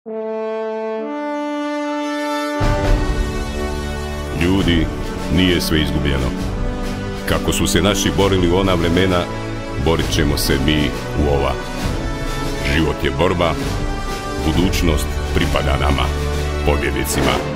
Ljudi, nije sve izgubljeno. Kako su se naši borili u ona vremena, borit ćemo se mi u ova. Život je borba, budućnost pripada nama, pobjednicima.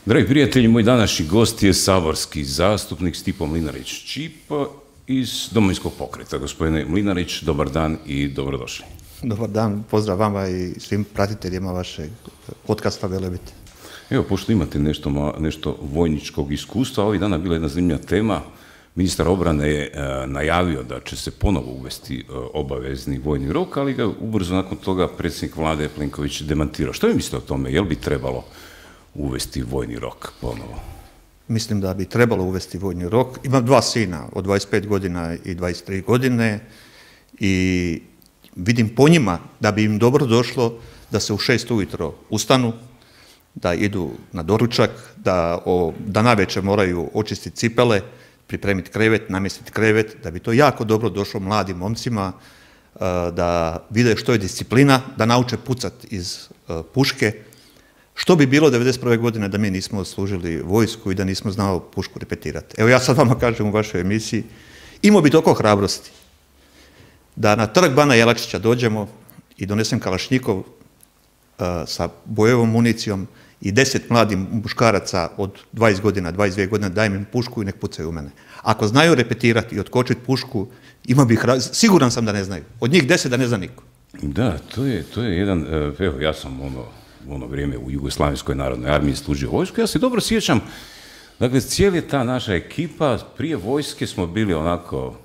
Dragi prijatelji, moj današnji gost je saborski zastupnik Stipo Mlinarić-Ćipo iz Domovinskog pokreta. Gospodine Mlinarić, dobar dan i dobrodošli. Dobar dan, pozdrav vama i svim pratiteljima vašeg podcasta Velebit. Evo, pošto imate nešto vojničkog iskustva, ovih dana bila jedna zanimljiva tema. Ministar obrane je najavio da će se ponovo uvesti obavezni vojni rok, ali ga ubrzo nakon toga predsjednik vlade Plenković demantirao. Što vi mislite o tome? Je li bi trebalo uvesti vojni rok ponovo? Mislim da bi trebalo uvesti vojni rok. Imam dva sina od 25 godina i 23 godine i vidim po njima da bi im dobro došlo da se u 6 ujutro ustanu, da idu na doručak, da navečer moraju očistiti cipele, pripremiti krevet, namjestiti krevet, da bi to jako dobro došlo mladim momcima, da vide što je disciplina, da nauče pucati iz puške. Što bi bilo 1991. godine da mi nismo služili vojsku i da nismo znali pušku repetirati? Evo ja sad vama kažem u vašoj emisiji, imao bi toliko hrabrosti da na trg Bana Jelačića dođemo i donesem kalašnjikov sa bojevom municijom i 10 mladih muškaraca od 20 godina, 22 godina, dajem im pušku i nek pucaju u mene. Ako znaju repetirati i otkočiti pušku, imao bih siguran sam da ne znaju. Od njih 10 da ne zna niko. Da, to je jedan, evo ja sam u ono vrijeme u Jugoslavenskoj narodnoj armiji služio vojsku. Ja se dobro sjećam, dakle, cijela ta naša ekipa, prije vojske smo bili onako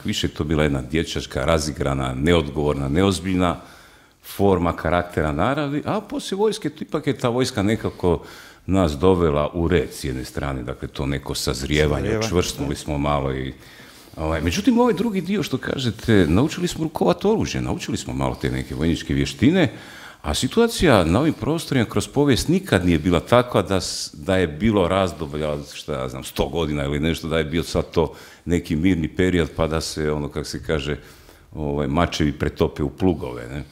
više to bila jedna dječačka, razigrana, neodgovorna, neozbiljna forma karaktera naravi, a poslije vojske ipak je ta vojska nekako nas dovela u red s jedne strane, dakle to neko sazrijevanje, čvrstnuli smo malo i... Međutim, ovaj drugi dio što kažete, naučili smo rukovati oružje, naučili smo malo te neke vojničke vještine, a situacija na ovim prostorima kroz povijest nikad nije bila takva da je bilo razdoblja, šta ja znam, 100 godina ili nešto, da je bio sad to neki mirni period pa da se, kako se kaže, mačevi pretope u plugove, ne?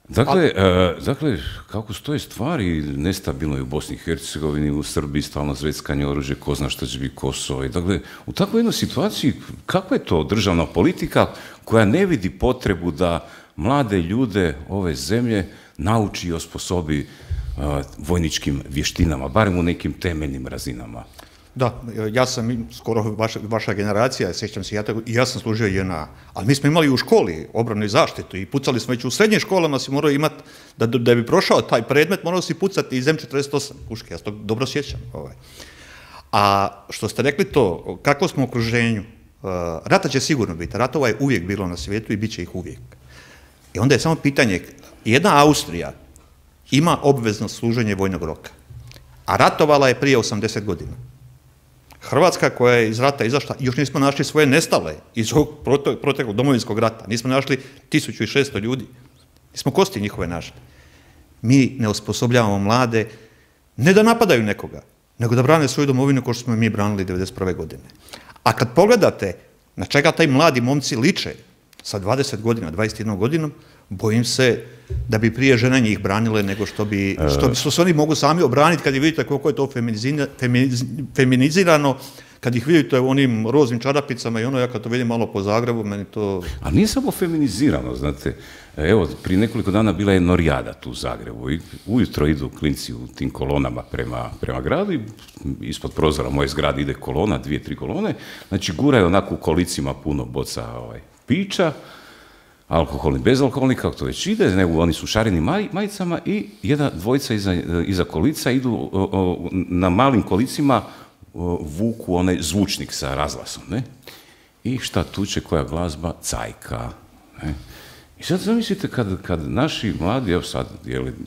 Dakle, kako stoje stvari, nestabilno je u Bosni i Hercegovini, u Srbiji stalno zveckanje oružje, ko zna što će biti Kosovo. Dakle, u takvoj jednoj situaciji, kakva je to državna politika koja ne vidi potrebu da mlade ljude ove zemlje nauči i osposobi vojničkim vještinama, barem u nekim temeljnim razinama? Da, ja sam skoro vaša generacija, sjećam se, ja sam služio JNA, ali mi smo imali u školi obranu i zaštitu i pucali smo već u srednjim školama, si morao imati, da bi prošao taj predmet, morao si pucati iz M48 puške, ja se to dobro sjećam. A što ste rekli to, kako smo u okruženju, rata će sigurno biti, ratova je uvijek bilo na svijetu i bit će ih uvijek. I onda je samo pitanje, jedna Austrija ima obvezno služenje vojnog roka, a ratovala je prije 80 godina. Hrvatska koja je iz rata izašla, još nismo našli svoje nestale iz ovog proteklog domovinskog rata, nismo našli 1600 ljudi, nismo kosti njihove našli. Mi ne osposobljavamo mlade, ne da napadaju nekoga, nego da brane svoju domovinu kao što smo mi branili 1991. godine. A kad pogledate na čega taj mladi momci liče sa 20 godina, 21 godinom, bojim se da bi prije žene njih branile nego što se oni mogu sami obraniti kad vidite koliko je to feminizirano, kad ih vidite u onim roznim čarapicama i ja kad to vidim malo po Zagrebu, meni to... A nije samo feminizirano, znate. Evo, prije nekoliko dana bila je norijada tu u Zagrebu i ujutro idu klinci u tim kolonama prema gradu i ispod prozora moje zgrade ide kolona, 2-3 kolone, znači guraju onako u kolicima puno boca pića, alkoholni, bezalkoholni, kako to već ide, nego oni su šarenim majicama i dvojica iza kolica idu na malim kolicima, vuku onaj zvučnik sa razglasom, ne? I šta tuče, koja glazba? Cajka, ne? I sad zamislite kad naši mladi, evo sad,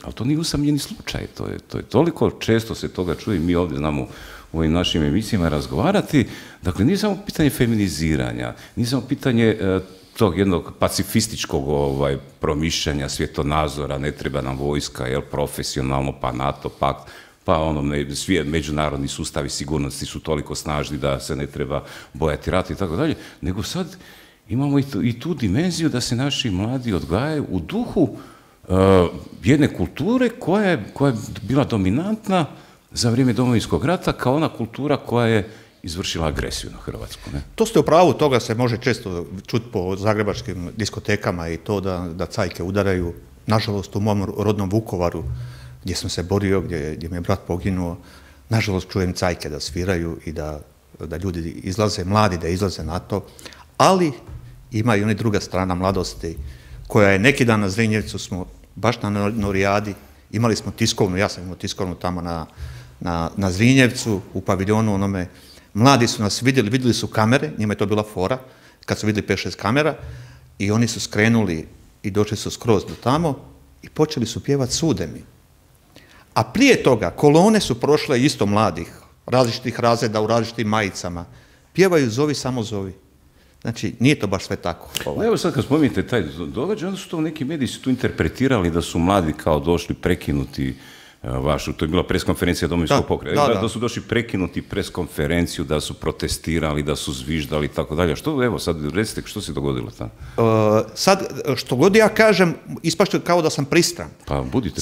ali to nije usamljeni slučaj, to je toliko često se toga čuje, mi ovdje znamo u ovim našim emisijama razgovarati, dakle nije samo pitanje feminiziranja, nije samo pitanje tog jednog pacifističkog promišljanja, svjetonazora, ne treba nam vojska, profesionalno, pa NATO, pakt, pa svi međunarodni sustavi sigurnosti su toliko snažni da se ne treba bojati rata i tako dalje, nego sad imamo i tu dimenziju da se naši mladi odgajaju u duhu jedne kulture koja je bila dominantna za vrijeme Domovinskog rata kao ona kultura koja je izvršila agresiju na Hrvatsku. Ne? To ste u pravu, toga se može često čuti po zagrebačkim diskotekama i to da cajke udaraju. Nažalost, u mom rodnom Vukovaru, gdje sam se borio, gdje mi je brat poginuo, nažalost čujem cajke da sviraju i da ljudi izlaze, mladi da izlaze na to, ali ima i ona druga strana mladosti koja je neki dan na Zrinjevcu smo, baš na Norijadi, imali smo tiskovnu, ja sam imao tiskovnu tamo na Zrinjevcu, u paviljonu onome. Mladi su nas vidjeli su kamere, njima je to bila fora, kad su vidjeli 5-6 kamera, i oni su skrenuli i došli su skroz do tamo i počeli su pjevati Sude mi. A prije toga kolone su prošle isto mladih, različitih razreda u različitim majicama. Pjevaju Zovi, samo zovi. Znači, nije to baš sve tako. Evo sad kad spominjete taj događaj, onda su to neki mediji su tu interpretirali da su mladi kao došli prekinuti to je bila preskonferencija Domovinskog pokreta, da su došli prekinuti preskonferenciju, da su protestirali, da su zviždali i tako dalje. Što, evo, sad recite što se dogodilo tamo? Sad, što god ja kažem, ispašće kao da sam pristran. Pa budite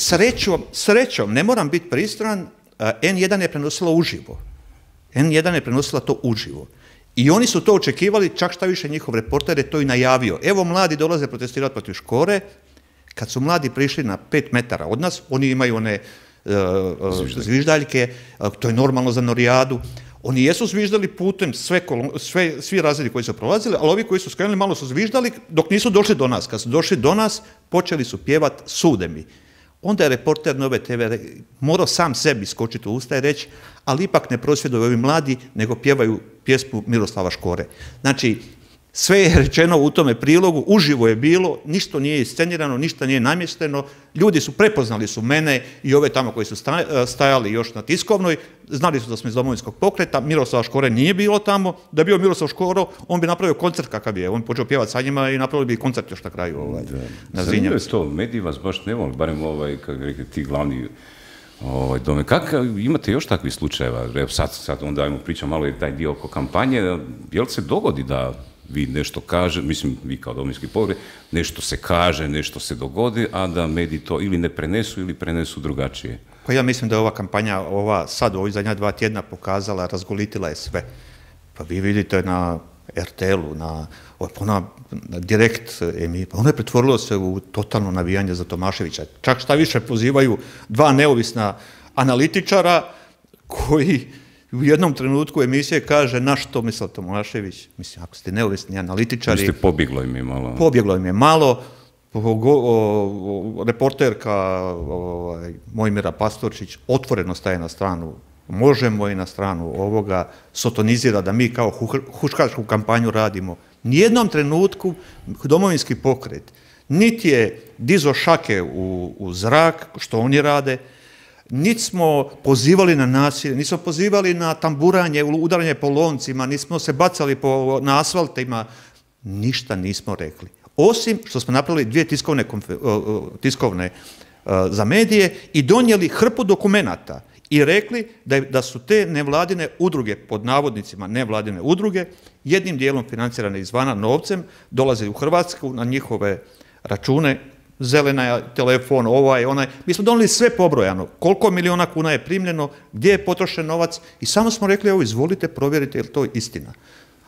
Srećom, ne moram biti pristran, N1 je prenosila uživo. N1 je prenosila to uživo. I oni su to očekivali, čak šta više njihov reporter je to i najavio. Evo, mladi dolaze protestirati protiv Škore. Kad su mladi prišli na 5 metara od nas, oni imaju one zviždaljke, to je normalno za Norijadu. Oni jesu zviždali putem svi razredi koji su prolazili, ali ovi koji su skrenuli malo su zviždali dok nisu došli do nas. Kad su došli do nas, počeli su pjevati Sude mi. Onda je reporter Nove TV morao sam sebi skočiti u usta i reći, ali ipak ne prosvjeduju ovi mladi, nego pjevaju pjesmu Miroslava Škore. Znači, sve je rečeno u tome prilogu, uživo je bilo, ništa nije iscenirano, ništa nije namješteno, ljudi su prepoznali su mene i ove tamo koji su stajali još na tiskovnoj, znali su da smo iz Domovinskog pokreta, Miroslava Škore nije bilo tamo, da je bio Miroslav Škoro, on bi napravio koncert kakav je, on bi počeo pjevati sa njima i napravili bi koncert još na kraju na Zrinjevcu. Zanimljivo je to, mediji vas baš ne voli, barem kako rekli, ti glavni dome. Imate još takvih slučajeva? Evo sad onda ajmo pričati malo i taj dio oko kampanje, jel se dogodi da vi nešto kaže, mislim, vi kao Domovinski pokret, nešto se kaže, nešto se dogodi, a da mediji to ili ne prenesu ili prenesu drugačije. Pa ja mislim da je ova kampanja, sad u ovih zadnja 2 tjedna pokazala, razgolitila je sve. Pa vi vidite na RTL-u, na Direkt emisiji, pa ono je pretvorilo se u totalno navijanje za Tomaševića. Čak šta više pozivaju 2 neovisna analitičara koji u jednom trenutku emisije kaže na što Tomislav Tomašević, mislim, ako ste neovisni analitičari... Mislim, pobjeglo im je malo. Pobjeglo im je malo. Reporterka Mojmira Pastorčić otvoreno staje na stranu Možemo i na stranu ovoga, sotonizira da mi kao huškačku kampanju radimo. Nijednom trenutku Domovinski pokret niti je dizo šake u zrak, što oni rade, niti smo pozivali na nasilje, nismo pozivali na tamburanje, udaranje po loncima, nismo se bacali na asfaltima, ništa nismo rekli. Osim što smo napravili 2 tiskovne za medije i donijeli hrpu dokumenata i rekli da su te nevladine udruge, pod navodnicima nevladine udruge, jednim dijelom financirane izvana novcem, dolaze u Hrvatsku na njihove račune, zelena telefon, onaj. Mi smo donijeli sve pobrojano, koliko milijuna kuna je primljeno, gdje je potrošen novac i samo smo rekli, evo izvolite, provjerite je li to istina.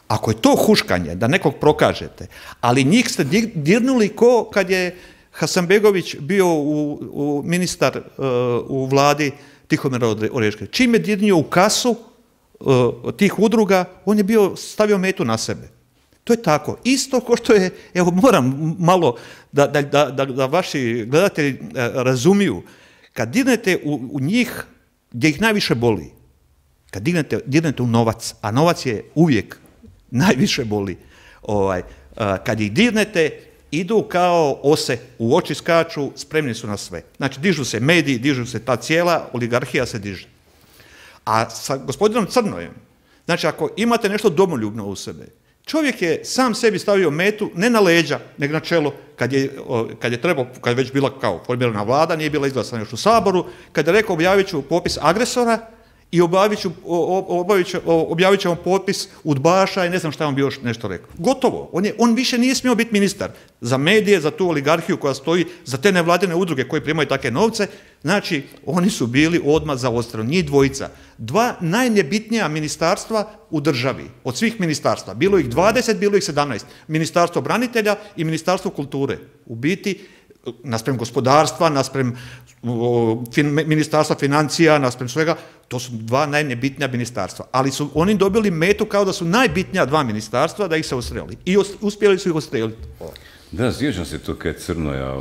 Ako je to huškanje, da nekog prokažete, ali njih ste dirnuli ko kad je Hasanbegović bio ministar u vladi Tihomira Oreškovića. Čim je dirnio u kasu tih udruga, on je stavio metu na sebe. To je tako. Isto kao što je, evo moram malo da vaši gledatelji razumiju, kad dirnete u njih gdje ih najviše boli, kad dirnete u novac, a novac je uvijek najviše boli, kad ih dirnete, idu kao ose, u oči skaču, spremni su na sve. Znači, dižu se mediji, dižu se ta cijela oligarhija se diže. A sa gospodinom Crnojem, znači, ako imate nešto domoljubno u sebe, Čovjek je sam sebi stavio metu, ne na leđa, nego na čelo, kad je trebao, kad je već bila kao formirana vlada, nije bila izglasana još u Saboru, kad je rekao objavit ću popis agresora i objavit ćemo popis udbaša i ne znam šta on bi još nešto rekao. Gotovo. On više nije smio biti ministar za medije, za tu oligarhiju koja stoji, za te nevladine udruge koje primaju takve novce. Znači, oni su bili odmah zaostrani, njih dvojica. Dva najnebitnija ministarstva u državi, od svih ministarstva. Bilo ih 20, bilo ih 17. Ministarstvo branitelja i Ministarstvo kulture. U biti, naspram gospodarstva, naspram ministarstva financija, naspram svega, to su dva najnebitnija ministarstva. Ali su oni dobili metu kao da su najbitnija dva ministarstva da ih se ustreli. I uspjeli su ih ustreliti. Da, sjećam se to kad Crnoja...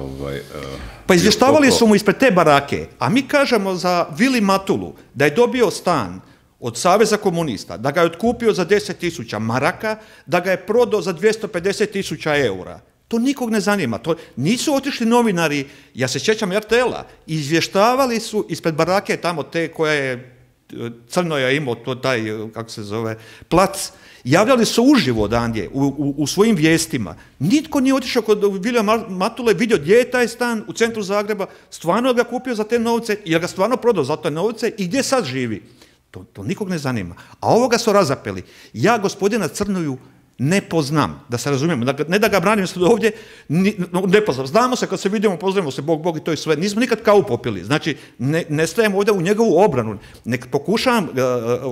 Pa izvještavali su mu ispred te barake, a mi kažemo za Vili Matulu da je dobio stan od Saveza komunista, da ga je otkupio za 10.000 maraka, da ga je prodao za 250.000 eura. To nikog ne zanima. To nisu otišli novinari, ja se sjećam RTL-a, izvještavali su ispred barake tamo te koja je Crnoja imao, to taj, kako se zove, plac, javljali su uživo odandje u svojim vijestima. Nitko nije otišao kod Vilija Matule, vidio gdje je taj stan u centru Zagreba, stvarno ga kupio za te novce, jer ga stvarno prodao za te novce i gdje sad živi. To nikog ne zanima. A ovoga su razapeli. Ja gospodina Crnoju ne poznam, da se razumijemo, ne da ga branim sad ovdje, ne poznam. Znamo se kad se vidimo, pozdravimo se, Bog i to je sve. Nismo nikad kavu popili. Znači, ne stajem ovdje u njegovu obranu. Nek pokušavam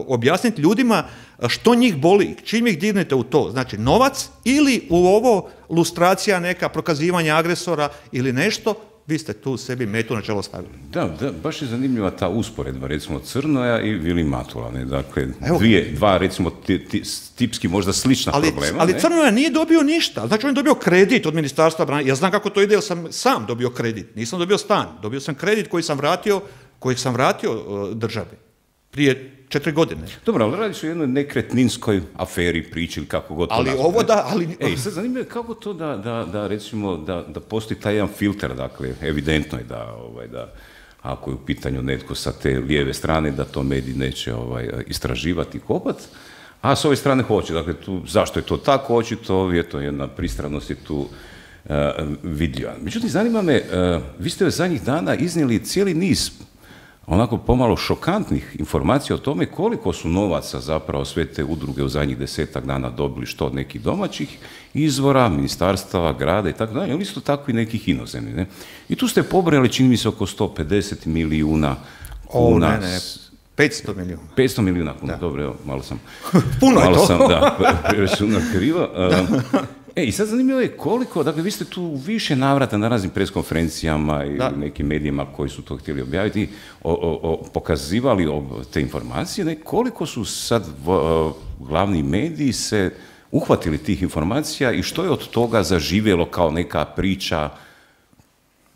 objasniti ljudima što njih boli, čim ih dirnete u to. Znači, novac ili u ovo lustracija neka, prokazivanje agresora ili nešto, vi ste tu sebi metu na čelo stavili. Da, baš je zanimljiva ta usporedba, recimo Crnoja i Vili Matula. Dakle, dva, recimo, tipski možda slična problema. Ali Crnoja nije dobio ništa. Znači, on je dobio kredit od Ministarstva branitelja. Ja znam kako to ide, jer sam sam dobio kredit. Nisam dobio stan. Dobio sam kredit kojeg sam vratio državi. Prije 4 godine. Dobro, ali radiš o jednoj nekretninskoj aferi, priči ili kako god to nazvati. Ali ovo da, ali... Sad zanimljivo je kako to da recimo, da postoji taj jedan filter, dakle, evidentno je da ako je u pitanju netko sa te lijeve strane, da to mediji neće istraživati i kopati, a s ove strane hoće. Dakle, zašto je to tako, očito, jedna pristranost je tu vidljiva. Međutim, zanima me, vi ste zadnjih dana iznijeli cijeli niz onako pomalo šokantnih informacija o tome koliko su novaca zapravo sve te udruge u zadnjih 10-ak dana dobili, što od nekih domaćih izvora, ministarstava, grada i tako dalje, ali isto tako i nekih inozemnih. Ne? I tu ste pobrojali, čini mi se, oko 150 milijuna kuna. 500 milijuna. 500 milijuna kuna, dobro, evo, malo sam... Puno je to. Malo sam, preračunao krivo. I sad zanimljivo je koliko, dakle vi ste tu više navrata na raznim preskonferencijama i nekim medijima koji su to htjeli objaviti, pokazivali te informacije, koliko su sad glavni mediji se uhvatili tih informacija i što je od toga zaživjelo kao neka priča,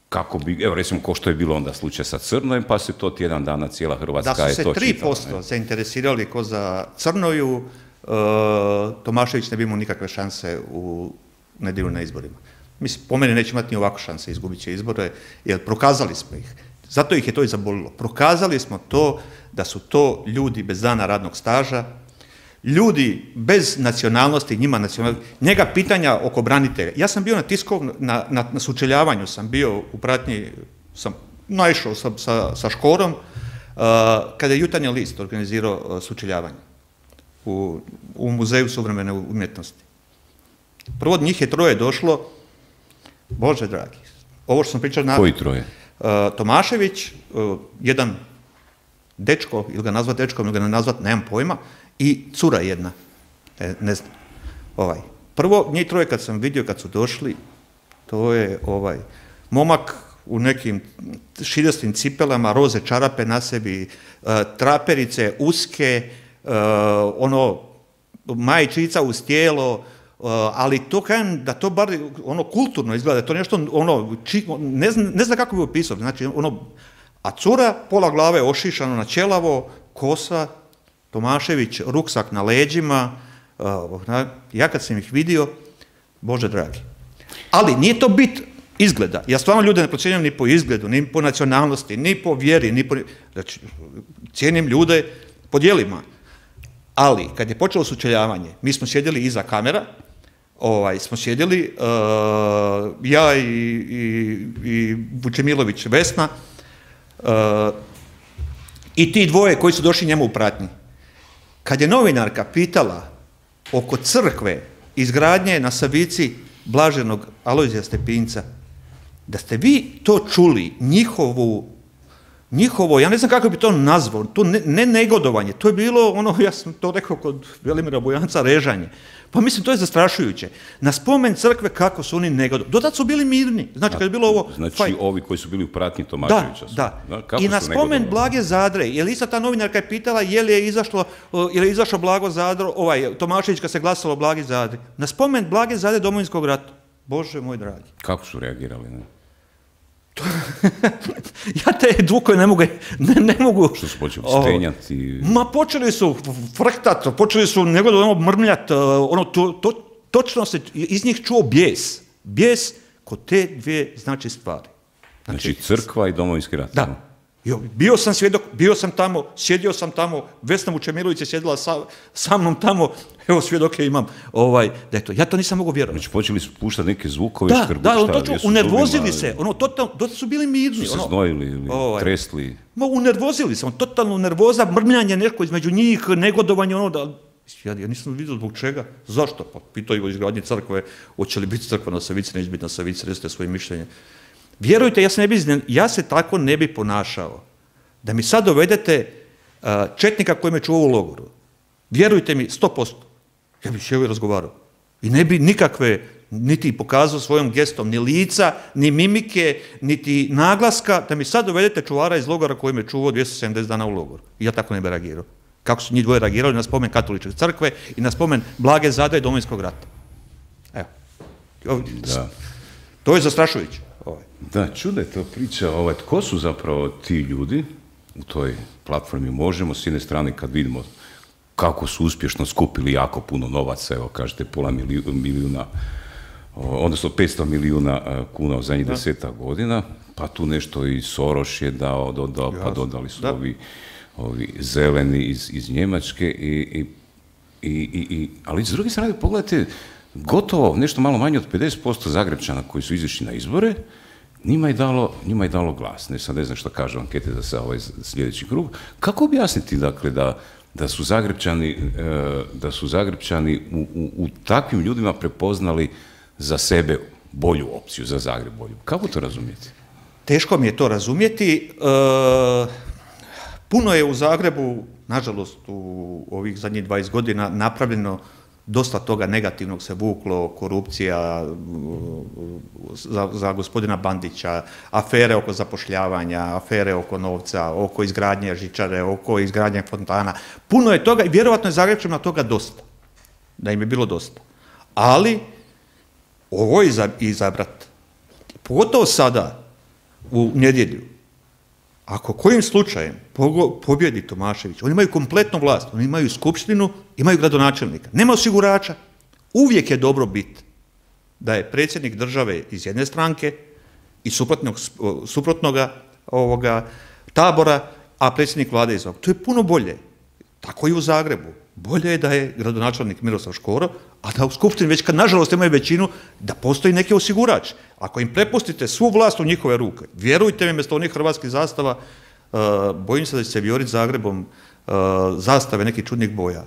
kako bi, evo recimo ko što je bilo onda slučaj sa Crnojem, pa se to tjedan dana cijela Hrvatska je to čitala. Da su se 3% zainteresirali ko za Crnoju, Tomašević ne bi imao nikakve šanse u nedjelju na izborima. Mislim, po meni neće imati ni ovako šanse, izgubit će izbore, jer prokazali smo ih. Zato ih je to i zabolilo. Prokazali smo to da su to ljudi bez dana radnog staža, ljudi bez nacionalnosti, njega pitanja oko branitelja. Ja sam bio na sučeljavanju, sam bio u pratnji, sam naišao sa Škorom, kada je Jutarnji list organizirao sučeljavanje u Muzeju suvremene umjetnosti. Prvo od njih je 3 došlo, Bože dragi, ovo što sam pričao... Koji 3? Tomašević, jedan dečko, ili ga nazvat dečkom, ili ga ne nazvat, nemam pojma, i cura jedna, ne znam, Prvo, njih 3 kad sam vidio, kad su došli, to je momak u nekim širastim cipelama, roze čarape na sebi, traperice uske, majčica uz tijelo, ali to kažem da to bar kulturno izgleda, to nešto ne znam kako bi opisao, znači a cura pola glave ošišano na ćelavo, kosa, Tomašević, ruksak na leđima, ja kad sam ih vidio, Bože dragi. Ali nije to bit izgleda, ja stvarno ljude ne procjenjujem ni po izgledu, ni po nacionalnosti, ni po vjeri, znači cijenim ljude po djelima. Ali, kad je počelo sučeljavanje, mi smo sjedili iza kamera, smo sjedili, ja i Vučemilović Vesna, i ti dvoje koji su došli njemu u pratnji. Kad je novinarka pitala oko crkve, izgradnje na Savici blaženog Alojzija Stepinca, da ste vi to čuli, njihovo, ja ne znam kako bi to nazvao, to ne negodovanje, to je bilo ono, ja sam to rekao kod Velimira Bojanca, režanje. Pa mislim, to je zastrašujuće. Na spomen crkve kako su oni negodovani. Do tad su bili mirni. Znači, kad je bilo ovo... Znači, ovi koji su bili u pratnji Tomaševića. Da. I na spomen Blage Zadre, jer ista ta novinarka je pitala je li je izašlo Blago Zadro, Tomašević kad se glasalo o Blagi Zadri. Na spomen Blage Zadre Domovinskog rata. Bože moj dragi. Kako su reagirali, ne? Ja te dvukoje ne mogu... Što su počeli stenjati? Ma počeli su frktat, počeli su negodovano mrmljat, točno se iz njih čuo bijes. Bijes kod te dvije znači stvari. Znači crkva i Domovinski rat. Da. Bio sam svjedok, bio sam tamo, sjedio sam tamo, Vesna Vučemilović je sjedila sa mnom tamo, evo svjedoke imam, da je to. Ja to nisam mogao vjerovati. Znači počeli su puštati neke zvukove, unervozili se, to su bili mirni. Su se znojili ili tresli? Unervozili se, totalno nervoza, mrmljanje nešto između njih, negodovanje, ja nisam vidio zbog čega. Zašto? Pa pitao o izgradnji crkve, hoće li biti crkva na Savici, neće biti na Savici, recite svoje mišljenje. Vjerujte, ja se tako ne bi ponašao. Da mi sad dovedete četnika koji me čuvao u logoru. Vjerujte mi, 100%. Ja bih sjeo i razgovarao. I ne bi nikakve, niti pokazao svojom gestom, ni lica, ni mimike, niti naglaska, da mi sad dovedete čuvara iz logora koji me čuvao 270 dana u logoru. I ja tako ne bi reagirao. Kako su njih dvoje reagirali na spomen Katoličke crkve i na spomen Blage Zadre i Domovinskog rata. Evo. To je zastrašujuće. Da, čuda je to priča, tko su zapravo ti ljudi u toj platformi Možemo, s jedne strane kad vidimo kako su uspješno skupili jako puno novaca, evo kažete pola milijuna, odnosno 500 milijuna kuna u zadnjih 10 godina, pa tu nešto i Soros je dodao, pa dodali su ovi zeleni iz Njemačke, ali s druge strane pogledajte, gotovo nešto malo manje od 50% Zagrepčana koji su izašli na izbore, njima je dalo glas. Ne znam što kažu ankete za sljedeći krug. Kako objasniti, dakle, da su Zagrepčani u takvim ljudima prepoznali za sebe bolju opciju, za Zagreb bolju? Kako to razumjeti? Teško mi je to razumjeti. Puno je u Zagrebu, nažalost, u ovih zadnjih 20 godina napravljeno, dosta toga negativnog se vuklo, korupcija za gospodina Bandića, afere oko zapošljavanja, afere oko novca, oko izgradnje žičare, oko izgradnje fontana. Puno je toga i vjerovatno je Zagrepčanima toga dosta, da im je bilo dosta. Ali ovo je izabrat, pogotovo sada, u nedjelju, ako kojim slučajem pobjedi Tomašević, oni imaju kompletnu vlast, oni imaju skupštinu, imaju gradonačelnika, nema osigurača. Uvijek je dobro biti da je predsjednik države iz jedne stranke i suprotnoga tabora, a predsjednik vlade iz ovog. To je puno bolje. Tako i u Zagrebu. Bolje je da je gradonačelnik Miroslav Škoro, a da u skupštini već kad nažalost imaju većinu, da postoji neki osigurač. Ako im prepustite svu vlast u njihove ruke, vjerujte mi, mjesto onih hrvatskih zastava, bojim se da će se vijoriti Zagrebom zastave nekih čudnih boja,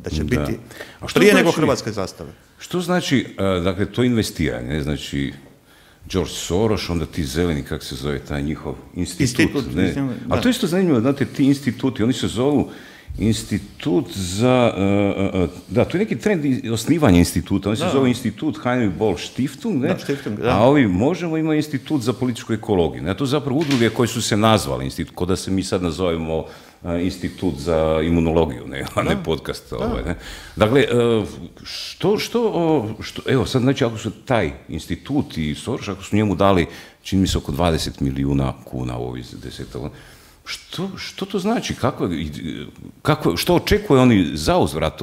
da će biti prije nego hrvatske zastave. Što znači, dakle, to investiranje, znači George Soros, onda ti zeleni, kako se zove taj njihov institut. Ali to je isto zanimljivo, znate, ti instituti, oni se zovu Institut za, da, to je neki trend osnivanja instituta, on se zove Institut Heinrich Böll Stiftung, ne? A ovi Možemo imaju Institut za političku ekologiju. Ne? To je zapravo udruge koje su se nazvali institut, kao da se mi sad nazovemo Institut za imunologiju, ne, a ne podcast. Ne? Dakle, evo sad, znači, ako su taj institut i Soros, ako su njemu dali, čini mi se, oko 20 milijuna kuna u ovih 10 godina, što to znači? Što očekuje oni za uzvrat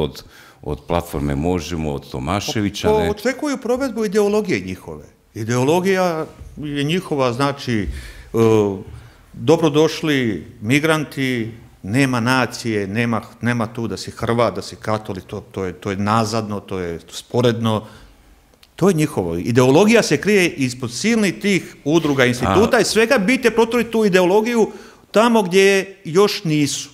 od platforme Možemo, od Tomaševića? Očekuju provedbu ideologije njihove. Ideologija je njihova, znači, dobrodošli migranti, nema nacije, nema tu da si Hrvat, da si katolik, to je nazadno, to je sporedno. To je njihovo. Ideologija se krije ispod silnih tih udruga, instituta i svega bite protvoriti tu ideologiju tamo gdje još nisu.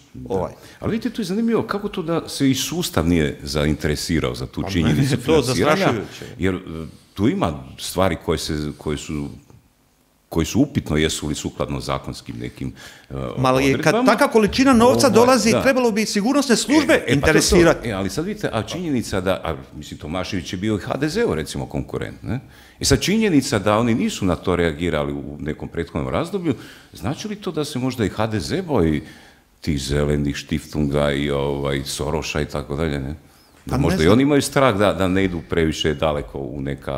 Ali vidite, tu je zanimljivo kako to da se i sustav nije zainteresirao za tu činjenicu financiranja, jer tu ima stvari koje su upitno jesu li sukladno zakonskim nekim odredbama. Kad taka količina novca dolazi, trebalo bi sigurnosne službe interesirati. Ali sad vidite, a činjenica da, mislim, Tomašević je bio i HDZ-u recimo konkurent, ne? I sad činjenica da oni nisu na to reagirali u nekom prethodnom razdoblju, znači li to da se možda i HDZ boji tih zelenih štiftunga i Soroša i tako dalje, ne? Da možda i oni imaju strah da ne idu previše daleko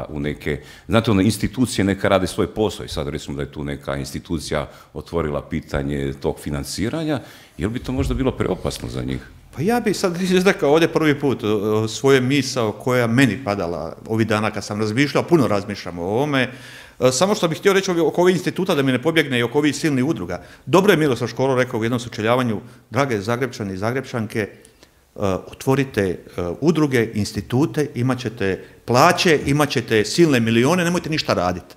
u neke, znate, institucije neka rade svoj posao i sad recimo da je tu neka institucija otvorila pitanje tog financiranja, jel bi to možda bilo preopasno za njih? Pa ja bi sad izrekao ovdje prvi put svoje misao koja meni padala ovih dana kad sam razmišljao, puno razmišljam o ovome, samo što bih htio reći oko ovih instituta da mi ne pobjegne i oko ovih silnih udruga. Dobro je Miroslav Škoro rekao u jednom sučeljavanju, drage Zagrepčani i Zagrepčanke, otvorite udruge, institute, imat ćete plaće, imat ćete silne milione, nemojte ništa raditi.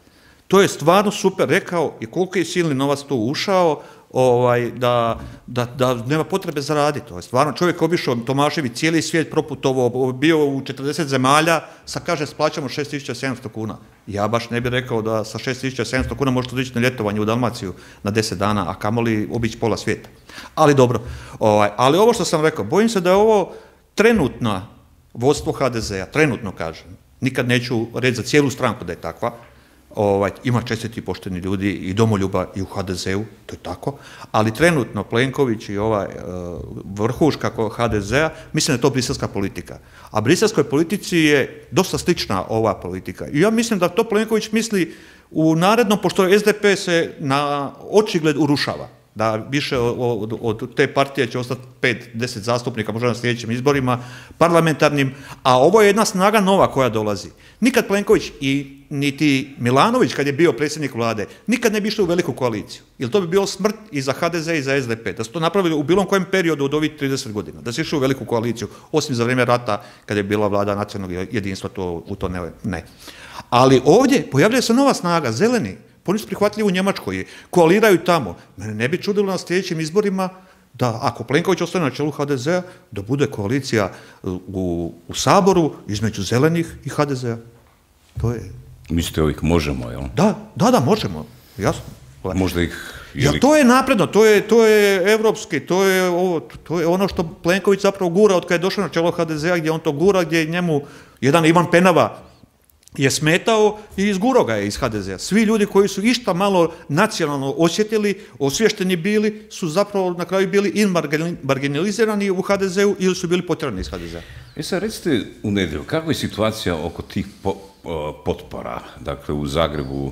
To je stvarno super rekao i koliko je silni novac tu ušao, da nema potrebe za raditi. Stvarno, čovjek obišao Tomašević cijeli svijet proputovao, bio u 40 zemalja, sad kaže plaćamo 6.700 kuna. Ja baš ne bih rekao da sa 6.700 kuna možete otići na ljetovanje u Dalmaciju na 10 dana, a kamoli obići pola svijeta. Ali dobro, ali ovo što sam rekao, bojim se da je ovo trenutno vodstvo HDZ-a, trenutno kažem, nikad neću reći za cijelu stranku da je takva, ima čestiti pošteni ljudi i domoljuba i u HDZ-u, to je tako, ali trenutno Plenković i vrhuška HDZ-a, mislim da je to briselska politika. A briselskoj politici je dosta slična ova politika. I ja mislim da to Plenković misli u narednom, pošto SDP se na očigled urušava, da više od te partije će ostati 5-10 zastupnika, možda na sljedećim izborima, parlamentarnim, a ovo je jedna snaga nova koja dolazi. Nikad Plenković i niti Milanović, kad je bio predsjednik vlade, nikad ne bi išli u veliku koaliciju. Jer to bi bilo smrt i za HDZ i za SDP. Da su to napravili u bilo kojem periodu od ovih 30 godina. Da su išli u veliku koaliciju, osim za vrijeme rata, kad je bila vlada nacionalnog jedinstva, u to ne. Ali ovdje pojavljuje se nova snaga, zeleni. Oni su prihvatljivi u Njemačkoj, koaliraju tamo. Mene ne bi čudilo na sljedećim izborima da, ako Plenković ostane na čelu HDZ-a, da bude koalicija u Saboru između zelenih i HDZ-a. To je... Mislite ovih možemo, jel? Da, možemo, jasno. Možda ih... To je napredno, to je evropski, to je ono što Plenković zapravo gura od kada je došao na čelo HDZ-a, gdje on to gura, gdje njemu jedan Ivan Penava je smetao i izgurao ga je iz HDZ-a. Svi ljudi koji su išta malo nacionalno osjetili, osvješteni bili, su zapravo na kraju bili ili marginalizirani u HDZ-u ili su bili potjerani iz HDZ-a. Sad recite u nedjelju, kakva je situacija oko tih potpora? Dakle, u Zagrebu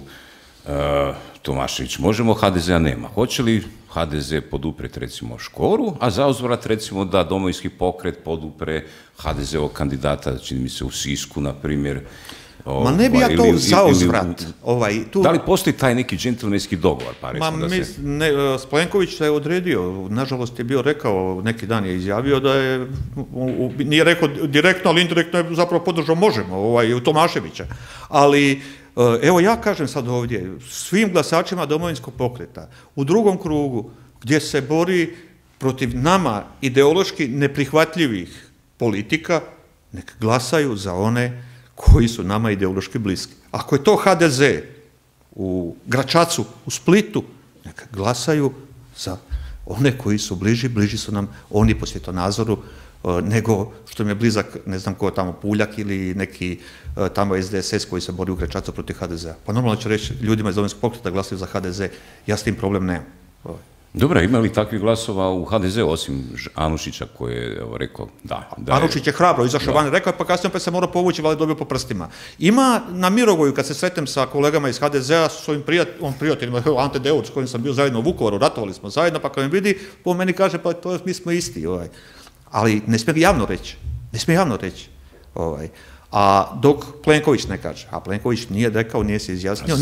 Tomašević možemo, HDZ-a nema. Hoće li HDZ poduprijeti recimo Škoru, a zauzvrat recimo da Domovinski pokret podupre HDZ-ovog kandidata, čini mi se u Sisku, na primjer. Ma ne bi ja to zauzvrat. Da li postoji taj neki džentlmenski dogovor? Plenković se je odredio, nažalost je bio rekao, neki dan je izjavio da je, nije rekao direktno, ali indirektno je zapravo podržao možemo, u Tomaševića. Ali evo ja kažem sad ovdje, svim glasačima Domovinskog pokreta, u drugom krugu, gdje se bori protiv nama ideološki neprihvatljivih politika, nek glasaju za one koji su nama ideološki bliski. Ako je to HDZ u Gračacu, u Splitu, neka glasaju za one koji su bliži su nam oni po svjetonazoru nego što im je blizak, ne znam ko tamo, Puljak ili neki tamo SDSS koji se bori u Gračacu protiv HDZ-a. Pa normalno će reći ljudima iz Domovinskog pokreta da glasaju za HDZ, ja s tim problem nemam. Dobro, ima li takvih glasova u HDZ-u, osim Anušića koji je rekao da... Anušić je hrabro izašao van, rekao je, pa kasnije opet se mora povući, ali dobio po prstima. Ima na Mirogoju, kad se sretnem sa kolegama iz HDZ-a, s svojim prijateljima, Ante Deur, s kojim sam bio zajedno u Vukovaru, ratovali smo zajedno, pa kad me vidi, po meni kaže, pa mi smo isti. Ali ne smije javno reći. A dok Plenković ne kaže, a Plenković nije rekao, nije se izjasnio,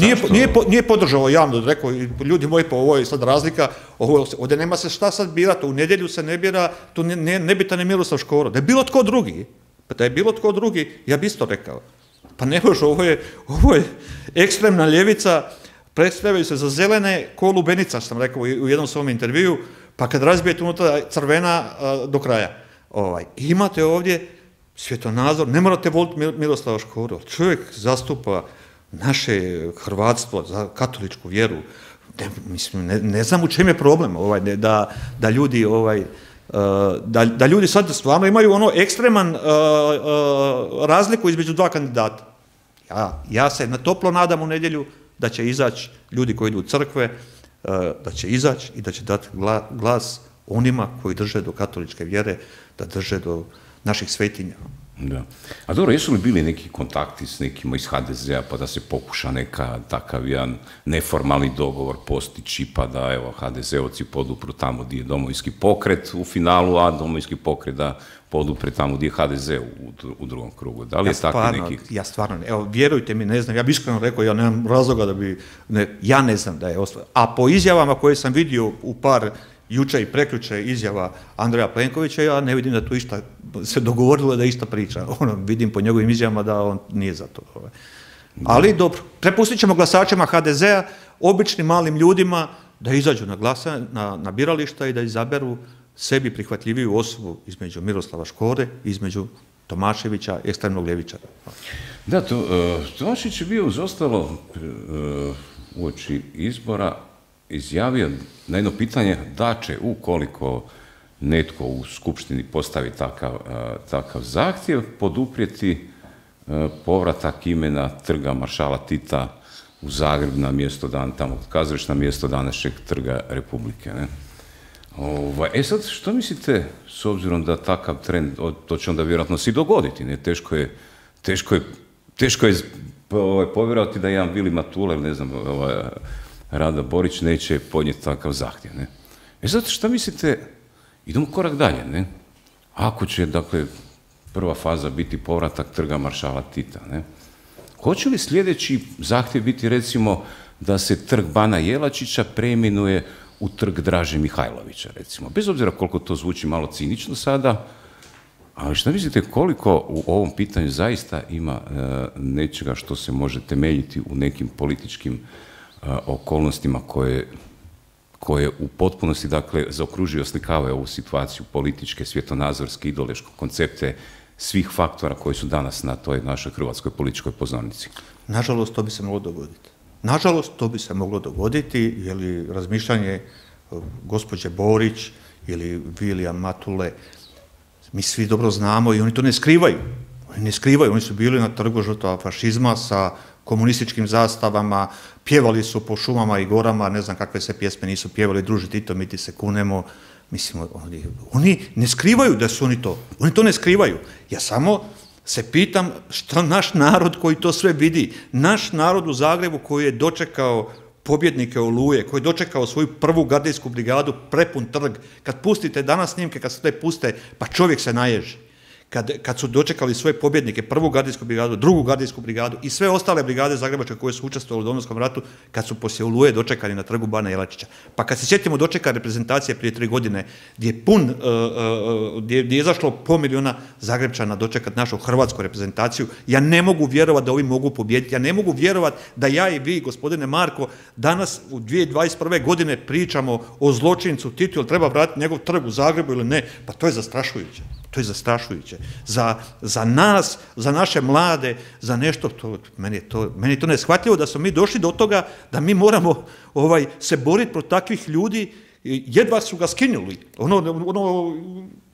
nije podržao javno, rekao, ljudi moji, pa ovo je sad razlika, ovdje nema se šta sad birati, u nedjelju se ne bira, tu nebitan je Miroslav Škoro. Da je bilo tko drugi, ja bi isto rekao. Pa ne može, ovo je ekstremna ljevica, predstavljaju se za zelene ko lubenica, sam rekao u jednom svom intervju, pa kad razbijete unutra crvena do kraja. Imate ovdje svjetonazor, ne morate voliti Miroslava Škoru, čovjek zastupa naše hrvatstvo za katoličku vjeru, ne znam u čem je problem, da ljudi sad stvarno imaju ono ekstreman razliku između dva kandidata. Ja se na toplo nadam u nedjelju da će izaći ljudi koji idu u crkve, da će izaći i da će dati glas onima koji drže do katoličke vjere, da drže do naših svetinja. Da. A dobro, jesu li bili neki kontakti s nekima iz HDZ-a pa da se pokuša neka takav jedan neformalni dogovor postići pa da evo HDZ-ovci podupru tamo gdje je Domovinski pokret u finalu, a Domovinski pokret da podupre tamo gdje je HDZ u drugom krugu. Da li je takvi neki... Ja stvarno, evo, vjerujte mi, ne znam, ja bih iskreno rekao, ja nemam razloga da bi, ja ne znam da je ostvareno. A po izjavama koje sam vidio u par juče i prekjuče izjava Andreja Plenkovića, ja ne vidim da tu išta se dogovorilo da išta priča. Vidim po njegovim izjavama da on nije za to. Ali dobro, prepustit ćemo glasačima HDZ-a, običnim malim ljudima, da izađu na birališta i da izaberu sebi prihvatljiviju osobu između Miroslava Škore i između Tomaševića, ekstremnog ljevičara. Da, Tomašević je bio uz ostalo uoči izbora izjavio na jedno pitanje da će, ukoliko netko u Skupštini postavi takav zahtjev, poduprijeti povratak imena Trga maršala Tita u Zagreb na mjesto tamo kazališta, na mjesto današnjeg Trga Republike. Sad, što mislite, s obzirom da takav trend, to će onda vjerojatno se i dogoditi, ne? Teško je povjerovati da jedan Vili Matula, ne znam, Rada Borić neće podnijeti takav zahtjev, ne? Sad, što mislite, idemo korak dalje, ne? Ako će, dakle, prva faza biti povratak Trga maršala Tita, ne? Hoće li sljedeći zahtjev biti, recimo, da se Trg Bana Jelačića preimenuje u Trg Draže Mihajlovića, recimo? Bez obzira koliko to zvuči malo cinično sada, ali što mislite koliko u ovom pitanju zaista ima nečega što se može temeljiti u nekim političkim okolnostima koje u potpunosti, dakle, zaokružuju i oslikavaju ovu situaciju političke, svjetonazorske, ideološke koncepte svih faktora koji su danas na toj našoj hrvatskoj političkoj pozornici? Nažalost, to bi se moglo dogoditi. Nažalost, to bi se moglo dogoditi, jer razmišljanje gospođe Borić ili Vilija Matule, mi svi dobro znamo i oni to ne skrivaju. Oni su bili na Trgu žrtava fašizma sa komunističkim zastavama, pjevali su po šumama i gorama, ne znam kakve se pjesme nisu pjevali, druži Tito, mi ti se kunemo. Mislim, oni ne skrivaju da su oni to ne skrivaju. Ja samo se pitam što naš narod koji to sve vidi, naš narod u Zagrebu koji je dočekao pobjednike Oluje, koji je dočekao svoju prvu gardijsku brigadu, prepun trg, kad pustite danas snimke, kad se te puste, pa čovjek se naježi. Kad su dočekali svoje pobjednike, prvu gardijsku brigadu, drugu gardijsku brigadu i sve ostale brigade zagrebačke koje su učestvovali u Domovinskom ratu, kad su poslije Oluje dočekani na Trgu Bana Jelačića. Pa kad se sjetimo dočeka reprezentacije prije 3 godine, gdje je izašlo 500 000 Zagrebčana dočekati našu hrvatsku reprezentaciju, ja ne mogu vjerovati da ovi mogu pobijediti, ja ne mogu vjerovati da ja i vi, gospodine Marko, danas u 2021. godine pričamo o zločincu Titu, jel treba vratiti njegov trg u Zagrebu ili ne, pa to je zastrašujuće. To je zastrašujuće. Za nas, za naše mlade, za nešto, meni je to neshvatljivo da smo mi došli do toga da mi moramo se boriti protiv takvih ljudi, jedva su ga skinuli.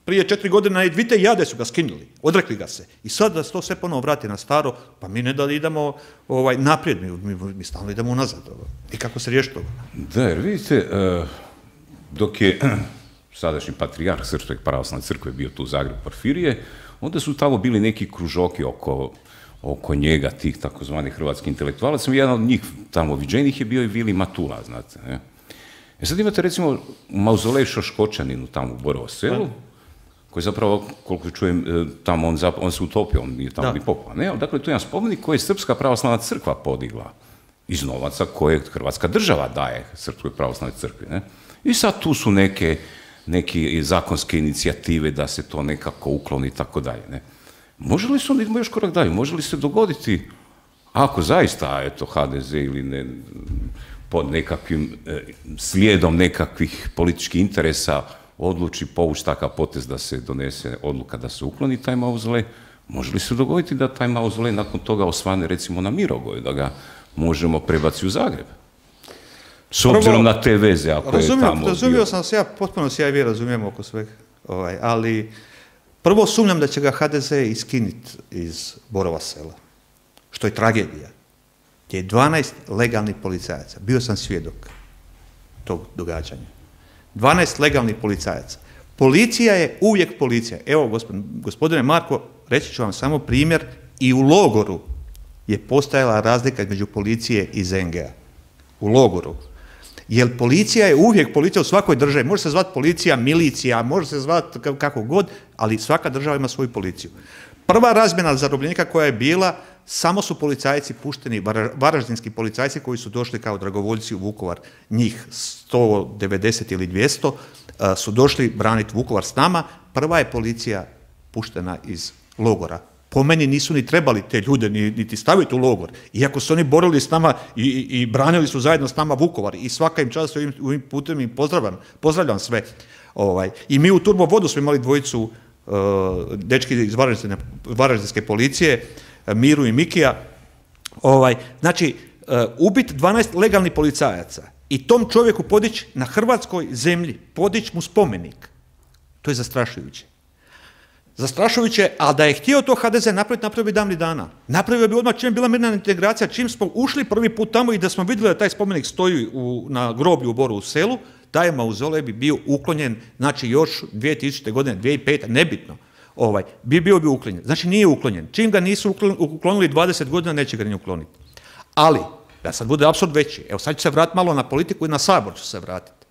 Prije 4 godine i Dvite Jade su ga skinuli, odrekli ga se. I sad da se to sve ponovo vrati na staro, pa mi ne da idemo naprijed, mi stalno idemo unazad. I kako se riješi toga? Da, jer vidite, dok je sadašnji patrijarh Srpske pravoslavne crkve bio tu u Zagrebu Porfirije, onda su tamo bili neki kružoki oko njega, tih takozvanih hrvatskih intelektualaca. Jedan od njih tamo viđenih je bio i Vili Matula, znate. Ne? Sad imate recimo mauzolej Šoškočaninu tamo u Borovo selu, koji zapravo, koliko čujem, tamo on se utopio, on nije tamo ni popao. Ne, dakle, to je jedan spomenik koji je Srpska pravoslavna crkva podigla iz novaca koje Hrvatska država daje Srpskoj pravoslavnoj crkvi. Ne? I sad tu su neke zakonske inicijative da se to nekako ukloni i tako dalje. Ne? Može li se, idemo još korak dalje, može li se dogoditi, ako zaista, eto, HDZ ili ne, pod nekakvim slijedom nekakvih političkih interesa odluči povući takav potez da se donese odluka da se ukloni taj mauzolej, može li se dogoditi da taj mauzolej nakon toga osvane recimo na Mirogoju, da ga možemo prebaciti u Zagreb? S obzirom na te veze, ako je tamo... Razumio sam se, potpuno se ja i vi razumijemo oko svega, ali prvo sumnjam da će ga HDZ iskiniti iz Borova Sela, što je tragedija. Gdje je 12 legalnih policajaca, bio sam svjedok tog događanja. 12 legalnih policajaca. Policija je uvijek policija. Evo, gospodine Marko, reći ću vam samo primjer, i u logoru je postojala razlika između policije i ZNG-a. U logoru. Jer policija je uvijek policija u svakoj državi. Može se zvati policija, milicija, može se zvati kako god, ali svaka država ima svoju policiju. Prva razmjena zarobljenika koja je bila, samo su policajci pušteni, varaždinski policajci koji su došli kao dragovoljci u Vukovar, njih 190 ili 200, su došli braniti Vukovar s nama. Prva je policija puštena iz logora. Po meni nisu ni trebali te ljude niti staviti u logor. Iako su oni borili s nama i branili su zajedno s nama Vukovar. I svaka im čast ovim putem im pozdravljam sve. I mi u Turbo Vodu smo imali dvojicu dečki iz varaždinske policije, Miru i Mikija. Znači, ubiti 12 legalnih policajaca i tom čovjeku podići na hrvatskoj zemlji, podići mu spomenik, to je zastrašujuće. Zastrašujuće, a da je htio to HDZ napraviti, napravio bi davnih dana. Napravio bi odmah čim je bila mirna integracija, čim smo ušli prvi put tamo i da smo vidjeli da taj spomenik stoji na groblju u Borovu Selu, taj mauzolej bi bio uklonjen, znači još 2000. godine, 2005. nebitno, bio bi uklonjen. Znači nije uklonjen. Čim ga nisu uklonili 20 godina, neće ga ni ukloniti. Ali, da sad bude apsurd veći, evo sad ću se vratiti malo na politiku i na Sabor ću se vratiti.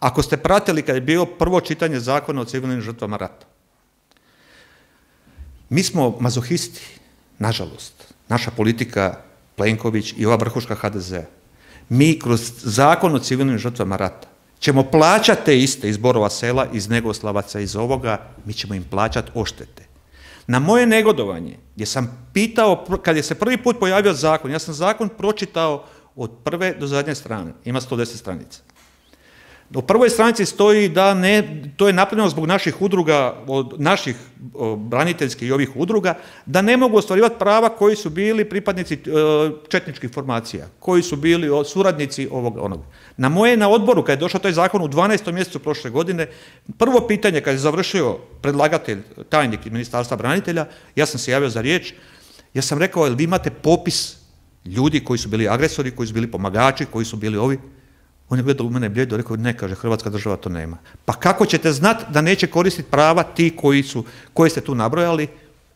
Ako ste pratili kad je bilo prvo čitanje Zakona o civilnim žrtvama rata, mi smo mazohisti, nažalost, naša politika, Plenković i ova vrhuška HDZ-a. Mi kroz Zakon o civilnim žrtvama rata ćemo plaćati te iste iz Borova Sela, iz Negoslavaca, iz ovoga, mi ćemo im plaćati odštete. Na moje negodovanje, gdje sam pitao, kad je se prvi put pojavio zakon, ja sam zakon pročitao od prve do zadnje strane, ima 110 stranica. U prvoj stranici stoji da to je napravljeno zbog naših udruga, od naših braniteljskih i ovih udruga, da ne mogu ostvarivati prava koji su bili pripadnici četničkih formacija, koji su bili suradnici onog. Na odboru, kad je došao taj zakon u 12. mjesecu prošle godine, prvo pitanje kad je završio predlagatelj, tajnik iz Ministarstva branitelja, ja sam se javio za riječ, ja sam rekao, jel vi imate popis ljudi koji su bili agresori, koji su bili pomagači, koji su bili ovi? On je gledao u mene bljedo, rekao, ne, kaže, Hrvatska država to nema. Pa kako ćete znati da neće koristiti prava ti koji ste tu nabrojali?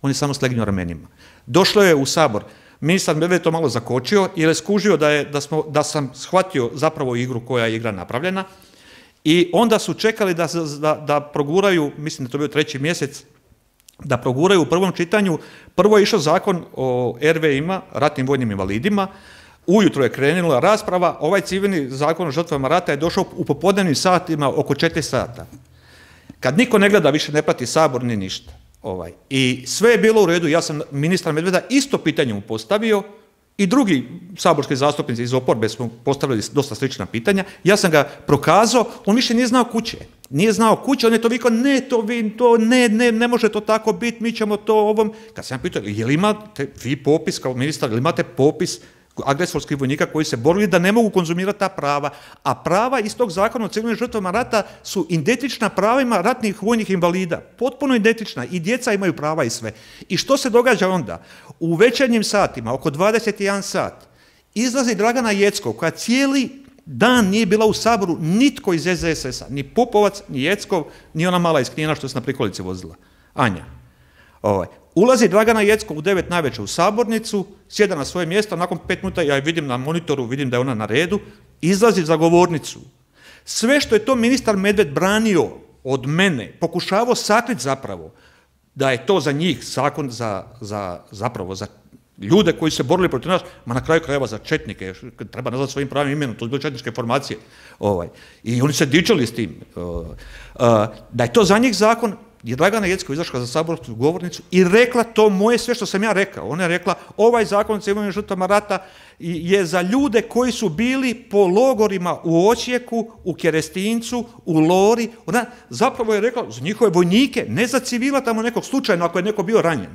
On je samo slegnuo ramenima. Došlo je u Sabor. Ministar Medved to malo zakočio jer je skužio da sam shvatio zapravo igru koja je igra napravljena i onda su čekali da proguraju, mislim da to bio 3. mjesec, da proguraju u prvom čitanju. Prvo je išao zakon o RV-ima, ratnim vojnim invalidima. Ujutro je krenula rasprava, ovaj civilni zakon o žrtvama rata je došao u popodnevnim satima oko 4 sata. Kad niko ne gleda, više ne prati Sabor ni ništa. I sve je bilo u redu, ja sam ministra Medveda isto pitanje mu postavio i drugi saborski zastupnici iz oporbe smo postavili dosta slična pitanja, ja sam ga prokazao, on više nije znao kuće. Nije znao kuće, on je to vikao, ne može to tako biti, mi ćemo to ovom. Kad sam pitao, je li imate vi popis kao ministar, je li imate popis agresorskih vojnika koji se borili da ne mogu konzumirati ta prava, a prava iz tog zakona o civilnim žrtvama rata su identična pravima ratnih vojnih invalida, potpuno identična, i djeca imaju prava i sve. I što se događa onda? U večernjim satima, oko 21 sat, izlazi Dragana Jeckov, koja cijeli dan nije bila u Saboru, nitko iz SDSS-a, ni Pupovac, ni Jeckov, ni ona mala iz Knina što se na prikolici vozila, Anja. Ulazi Dragana Jeckov u 9 navečer u sabornicu, sjeda na svoje mjesto, nakon 5 minuta ja je vidim na monitoru, vidim da je ona na redu, izlazi za govornicu. Sve što je to ministar Medved branio od mene pokušavao sakriti zapravo da je to za njih zakon zapravo za ljude koji su se borili protiv nas, ma na kraju krajeva za četnike, treba nazvati svojim pravim imenom, to su bile četničke formacije. I oni se dičili s tim. Da je to za njih zakon, je Dragana Jeckov izašla za saborsku govornicu i rekla to moje sve što sam ja rekao. Ona je rekla, ovaj zakon o civilnim žrtvama rata je za ljude koji su bili po logorima u Osijeku, u Kerestincu, u Lori. Ona zapravo je rekla za njihove vojnike, ne za civila tamo nekog slučajno ako je neko bio ranjen.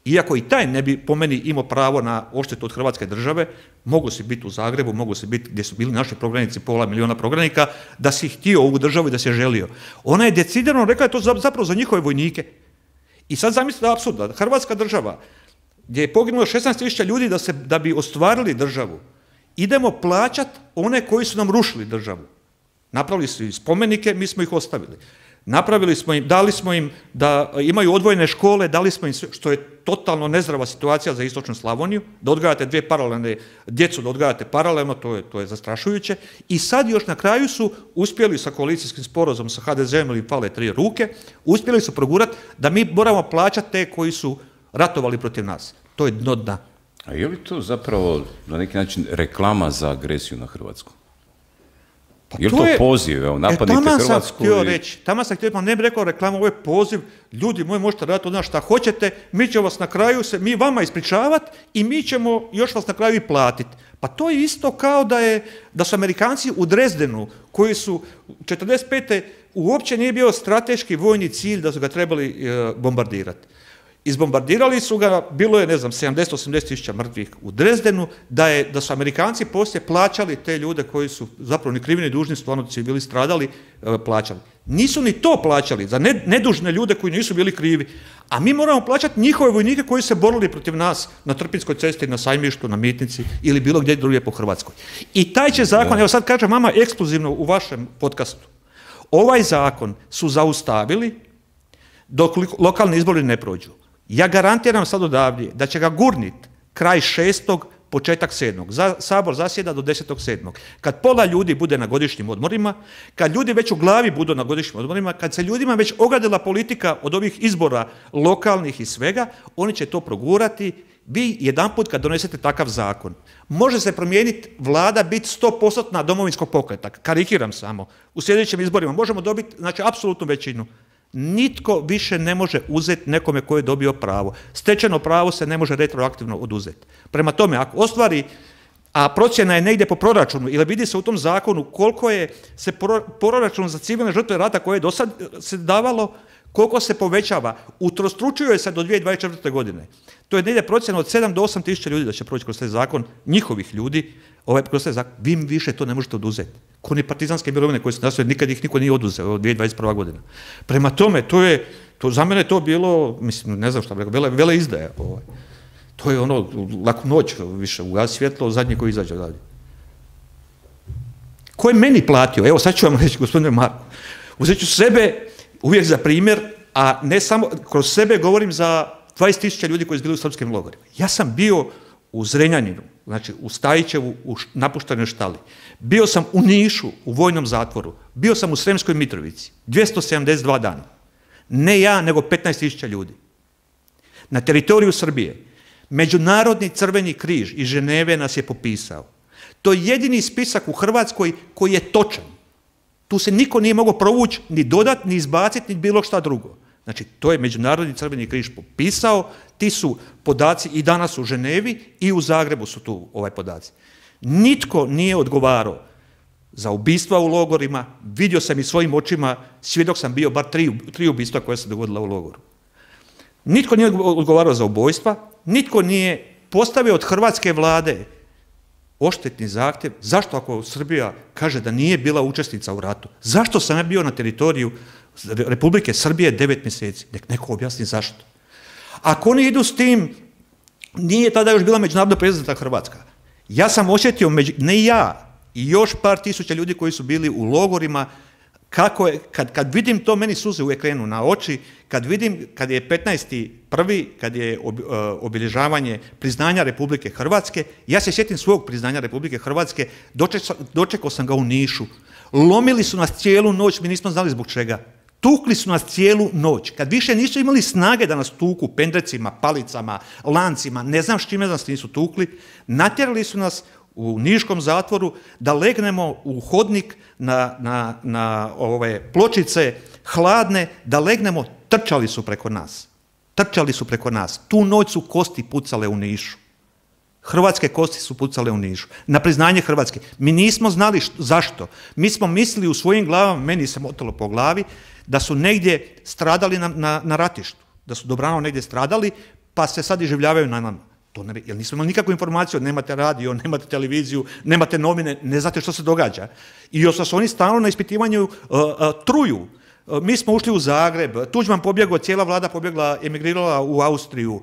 Iako i taj ne bi po meni imao pravo na odštetu od Hrvatske države, mogu si biti u Zagrebu, mogu si biti gdje su bili naši prognanici, 500 milijuna prognanika, da si htio ovu državu i da si je želio. Ona je decidirano rekla da je to zapravo za njihove vojnike. I sad zamislite apsurd, da Hrvatska država, gdje je poginulo 16.000 ljudi da bi ostvarili državu, idemo plaćati one koji su nam rušili državu. Napravili su i spomenike, mi smo ih ostavili. Napravili smo im, dali smo im da imaju odvojene škole, dali smo im sve, što je totalno nezdrava situacija za istočnu Slavoniju, da odgajate dvije paralelne djecu, da odgajate paralelno, to je zastrašujuće. I sad još na kraju su uspjeli sa koalicijskim sporazumom sa HDZ-om ili pale 3 ruke, uspjeli su progurati da mi moramo plaćati te koji su ratovali protiv nas. To je dno dna. A je li to zapravo na neki način reklama za agresiju na Hrvatsku? Je li to poziv, evo, napadnite Hrvatsku? Tamo sam htio, pa ne bih rekao reklama, ovo je poziv, ljudi moji možete raditi od nas šta hoćete, mi ćemo vas na kraju mi vama ispričavati i mi ćemo još vas na kraju i platiti. Pa to je isto kao da su Amerikanci u Dresdenu, koji su 1945. uopće nije bio strateški vojni cilj da su ga trebali bombardirati. Izbombardirali su ga, bilo je, 70-80 tisuća mrtvih u Dresdenu, da su Amerikanci poslije plaćali te ljude koji su zapravo ni krivi ni dužni, stvarno su bili stradali, plaćali. Nisu ni to plaćali za nedužne ljude koji nisu bili krivi, a mi moramo plaćati njihove vojnike koji se borili protiv nas na Trpinjskoj cesti, na Sajmištu, na Mitnici ili bilo gdje drugdje po Hrvatskoj. I taj će zakon, evo sad kažem vama ekskluzivno u vašem podcastu, ovaj zakon su zaustavili dok lokalni izbori ne prođu. Ja garantiram sad odavdje da će ga gurnit kraj 6. početak 7. Sabor zasjeda do 10.7. Kad pola ljudi bude na godišnjim odmorima, kad ljudi već u glavi budu na godišnjim odmorima, kad se ljudima već ogadila politika od ovih izbora lokalnih i svega, oni će to progurati. Vi jedanput kad donesete takav zakon, može se promijeniti vlada, biti 100% Domovinskog pokreta, karikiram samo, u sljedećim izborima možemo dobiti, znači, apsolutnu većinu. Nitko više ne može uzeti nekome koji je dobio pravo. Stečeno pravo se ne može retroaktivno oduzeti. Prema tome, ako ostvari, a procjena je negdje po proračunu, ili vidi se u tom zakonu koliko je se proračun za civilne žrtve rata koje je do sad se davalo, koliko se povećava, utrostručuje se do 2024. godine. To je negdje procjena od 7 do 8 tisuća ljudi da će proći kroz taj zakon, njihovih ljudi, kroz taj zakon. Vi više to ne možete oduzeti. Ko ni partizanske mirovine koje su nastoje, nikad ih niko nije oduzeo od 2021. godina. Prema tome, za mene to bilo, mislim, ne znam šta bi rekao, vele izdaja. To je ono, laku noć više, ugasi svjetlo, zadnji koji izađe odavdje. Ko je meni platio? Evo, sad ću vam reći, gospodine Marko, uzet ću sebe uvijek za primjer, a ne samo, kroz sebe govorim za 20.000 ljudi koji su bili u srpskim logorima. Ja sam bio u Zrenjaninu, znači u Stajićevu, u napuštenoj štali. Bio sam u Nišu, u vojnom zatvoru. Bio sam u Sremskoj Mitrovici, 272 dana. Ne ja, nego 15.000 ljudi. Na teritoriju Srbije. Međunarodni Crveni križ iz Ženeve nas je popisao. To je jedini spisak u Hrvatskoj koji je točan. Tu se niko nije mogao provući, ni dodati, ni izbaciti, ni bilo šta drugo. Znači, to je Međunarodni Crveni križ popisao, ti su podaci i danas u Ženevi i u Zagrebu su tu podaci. Nitko nije odgovarao za ubistva u logorima, vidio sam i svojim očima, svjedok sam bio bar tri ubistva koja se dogodila u logoru. Nitko nije odgovarao za ubojstva, nitko nije postavio od hrvatske vlade odštetni zahtjev. Zašto ako Srbija kaže da nije bila učesnica u ratu? Zašto sam ja bio na teritoriju Republike Srbije 9 mjeseci? Nek neko objasni zašto. Ako oni idu s tim, nije tada još bila međunarodno priznata Hrvatska. Ja sam osjetio, ne ja, i još par tisuća ljudi koji su bili u logorima, kako je, kad vidim to, meni suze uvijek krenu na oči, kad vidim, kad je 15.1., kad je obilježavanje priznanja Republike Hrvatske, ja se sjetim svog priznanja Republike Hrvatske, dočekao sam ga u Nišu. Lomili su nas cijelu noć, mi nismo znali zbog čega. Tukli su nas cijelu noć. Kad više nisu imali snage da nas tuku pendrecima, palicama, lancima, ne znam s čime nas nisu tukli, natjerali su nas u niškom zatvoru da legnemo u hodnik na ove pločice hladne, da legnemo, trčali su preko nas. Trčali su preko nas. Tu noć su kosti pucale u Nišu. Hrvatske kosti su pucale u Nišu. Na priznanje Hrvatske. Mi nismo znali zašto. Mi smo mislili u svojim glavama, meni se motalo po glavi, da su negdje stradali na ratištu. Da su dobrano negdje stradali, pa se sad iživljavaju na nama. To ne, jer nismo imali nikakvu informaciju, nemate radio, nemate televiziju, nemate novine, ne znate što se događa. I još su oni stalno na ispitivanju truju. Mi smo ušli u Zagreb, Tuđman pobjegao, cijela vlada pobjegla, emigrirala u Austriju.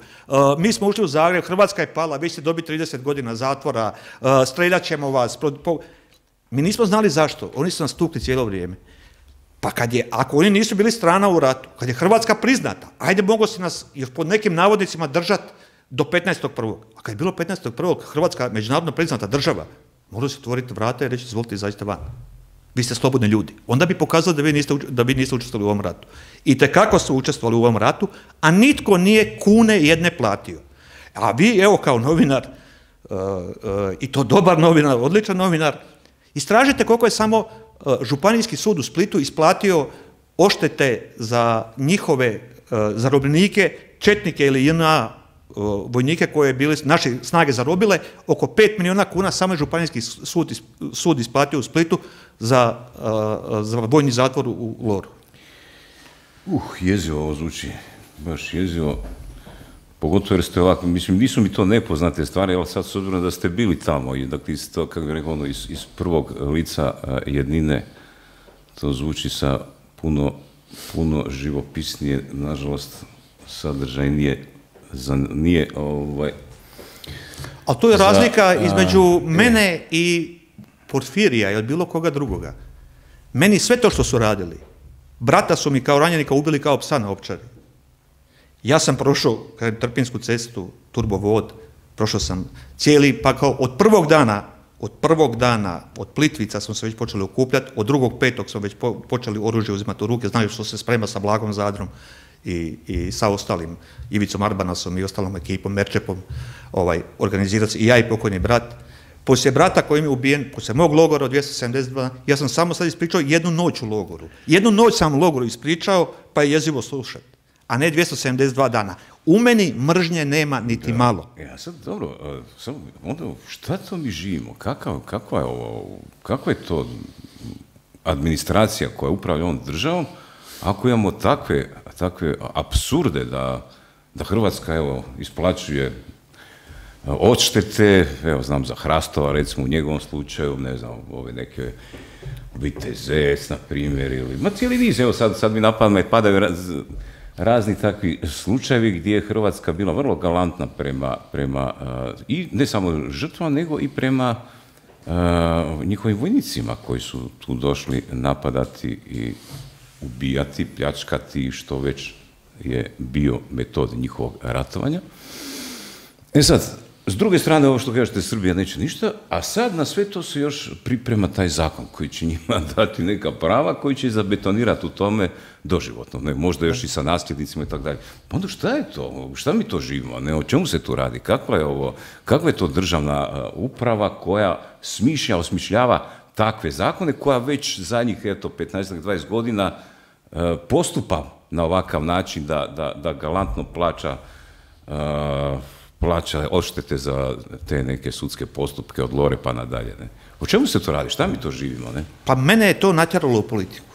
Mi smo ušli u Zagreb, Hrvatska je pala, vi ćete dobiti 30 godina zatvora, streljat ćemo vas. Mi nismo znali zašto, oni su nas tukli cijelo vrijeme. Pa ako oni nisu bili strana u ratu, kad je Hrvatska priznata, ajde mogo se nas još pod nekim navodnicima držati do 15.1. A kad je bilo 15.1. Hrvatska međunarodno priznata država, mogli se otvoriti vrata i reći izvolite izađite van. Vi ste slobodni ljudi. Onda bi pokazali da vi niste učestvovali u ovom ratu. I tekako su učestvovali u ovom ratu, a nitko nije kune jedne platio. A vi, evo kao novinar, i to dobar novinar, odličan novinar, istražite koliko je samo Županijski sud u Splitu isplatio odštete za njihove zarobljenike, četnike ili JNA vojnike koje bile naše snage zarobile, oko 5 milijuna kuna samo je Županijski sud isplatio u Splitu za vojni zatvor u Loru. Jezivo ovo zvuči, baš jezivo. Pogotovo jer ste ovako, mislim, nisu mi to nepoznate stvari, ali sad s obzirom da ste bili tamo i dakle, to, kako bih rekao, iz prvog lica jednine, to zvuči sa puno živopisnije, nažalost, sadržajnije, ali to je razlika između mene i Porfirija ili bilo koga drugoga. Meni sve to što su radili, brata su mi kao ranjenika ubili kao psa na Ovčari. Ja sam prošao Trpinjsku cestu, turbovod, prošao sam cijeli, pa kao od prvog dana, od Plitvica smo se već počeli okupljati, od 2.5. smo već počeli oružje uzimati u ruke, znaju što se sprema sa Blagom Zadrom i sa ostalim, Ivicom Arbanasom i ostalom ekipom, Merčepom, organizirati i ja i pokojni brat. Poslije brata koji mi je ubijen, poslije mog logora od 272, ja sam samo sad ispričao jednu noć u logoru. Jednu noć sam u logoru ispričao, pa je jezivo slušati, a ne 272 dana. U meni mržnje nema niti malo. Ja sad, dobro, onda šta to mi živimo? Kakva je to administracija koja upravlja ovom državom, ako imamo takve apsurde da Hrvatska, evo, isplaćuje odštete, evo, znam za Hrastova, recimo u njegovom slučaju, ne znam, ove neke Vitezec, na primjer, ili, ma cijeli niz, evo, sad mi napadne padaju razni takvi slučajevi gdje je Hrvatska bila vrlo galantna prema i ne samo žrtvama, nego i prema njihovim vojnicima koji su tu došli napadati i ubijati, pljačkati, što već je bio metod njihovog ratovanja. Sad, s druge strane, ovo što kažete, Srbija neće ništa, a sad na sve to se još priprema taj zakon koji će njima dati neka prava, koji će zabetonirati u tome doživotno, ne, možda još i sa nasljednicima i tako dalje. Onda šta je to? Šta mi to živimo? Ne, o čemu se tu radi? Kakva je to državna uprava koja osmišljava takve zakone, koja već zadnjih, 15-20 godina postupa na ovakav način da galantno plaća odštete za te neke sudske postupke od Lore pa nadalje. Ne? O čemu se to radi? Šta mi to živimo? Ne? Pa mene je to natjeralo u politiku.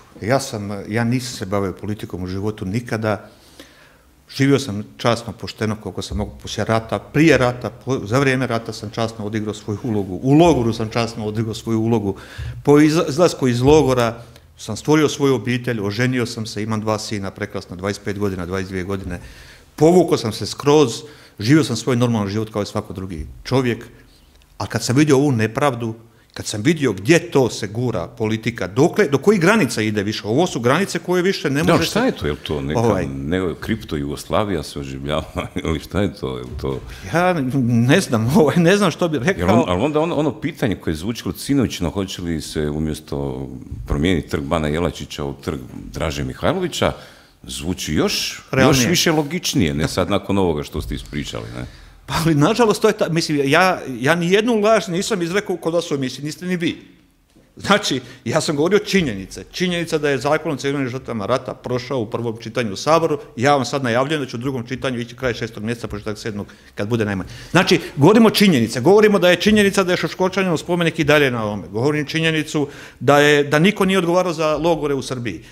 Ja nisam se bavio politikom u životu nikada. Živio sam časno, pošteno, koliko sam mogu poslije rata, prije rata, za vrijeme rata sam časno odigrao svoju ulogu. U logoru sam časno odigrao svoju ulogu. Po izlasku iz logora sam stvorio svoju obitelj, oženio sam se, imam 2 sina, prekrasno, 25 godina, 22 godine. Povukao sam se skroz, živio sam svoj normalan život kao i svako drugi čovjek, a kad sam vidio ovu nepravdu, kad sam vidio gdje to se gura politika, do kojih granica ide više. Ovo su granice koje više ne može... Da, šta je to? Je li to neka kripto Jugoslavija se oživljava? Ili šta je to? Ja ne znam što bi rekao. Ali onda ono pitanje koje je zvučilo sinoćno, hoće li se umjesto promijeniti trg Bana Jelačića u trg Draže Mihajlovića, zvuči još više logičnije, ne sad nakon ovoga što ste ispričali, ne? Pa ali nažalost to je mislim, ja ni jednu laž nisam izrekao kod vas u emisiji, niste ni vi. Znači, ja sam govorio činjenice. Činjenica da je Zakon o civilnim žrtvama rata prošao u prvom čitanju u Saboru, ja vam sad najavljujem da ću u drugom čitanju ići kraj 6. mjeseca, početak 7. kad bude najmanje. Znači, govorimo činjenice. Govorimo da je činjenica da je Šoškočaninu spomenik i dalje na ovome. Govorim činjenicu da niko nije odgovarao za logore u Srbiji.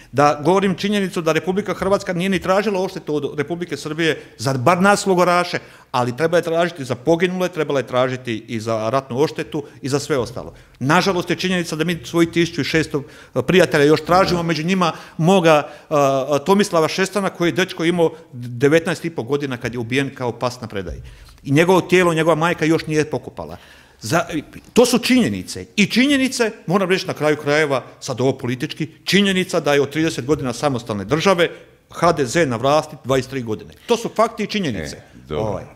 Govorim činjenicu da Republika Hrvatska nije ni tražila odštetu od Republike Srbije za bar nas logoraše, ali treba je tražiti za poginule, trebala je tražiti i za ratnu odštetu i za sve ostalo. Nažalost je činjenica da mi svojih 1600 prijatelja još tražimo, među njima moga Tomislava Šestana koji je dečko imao 19,5 godina kad je ubijen kao pas na predaji. I njegovo tijelo, njegova majka još nije pokopala. To su činjenice. I činjenice, moram reći na kraju krajeva, sad ovo politički, činjenica da je od 30 godina samostalne države HDZ na vlasti 23 godine. To su fakti i činjenice.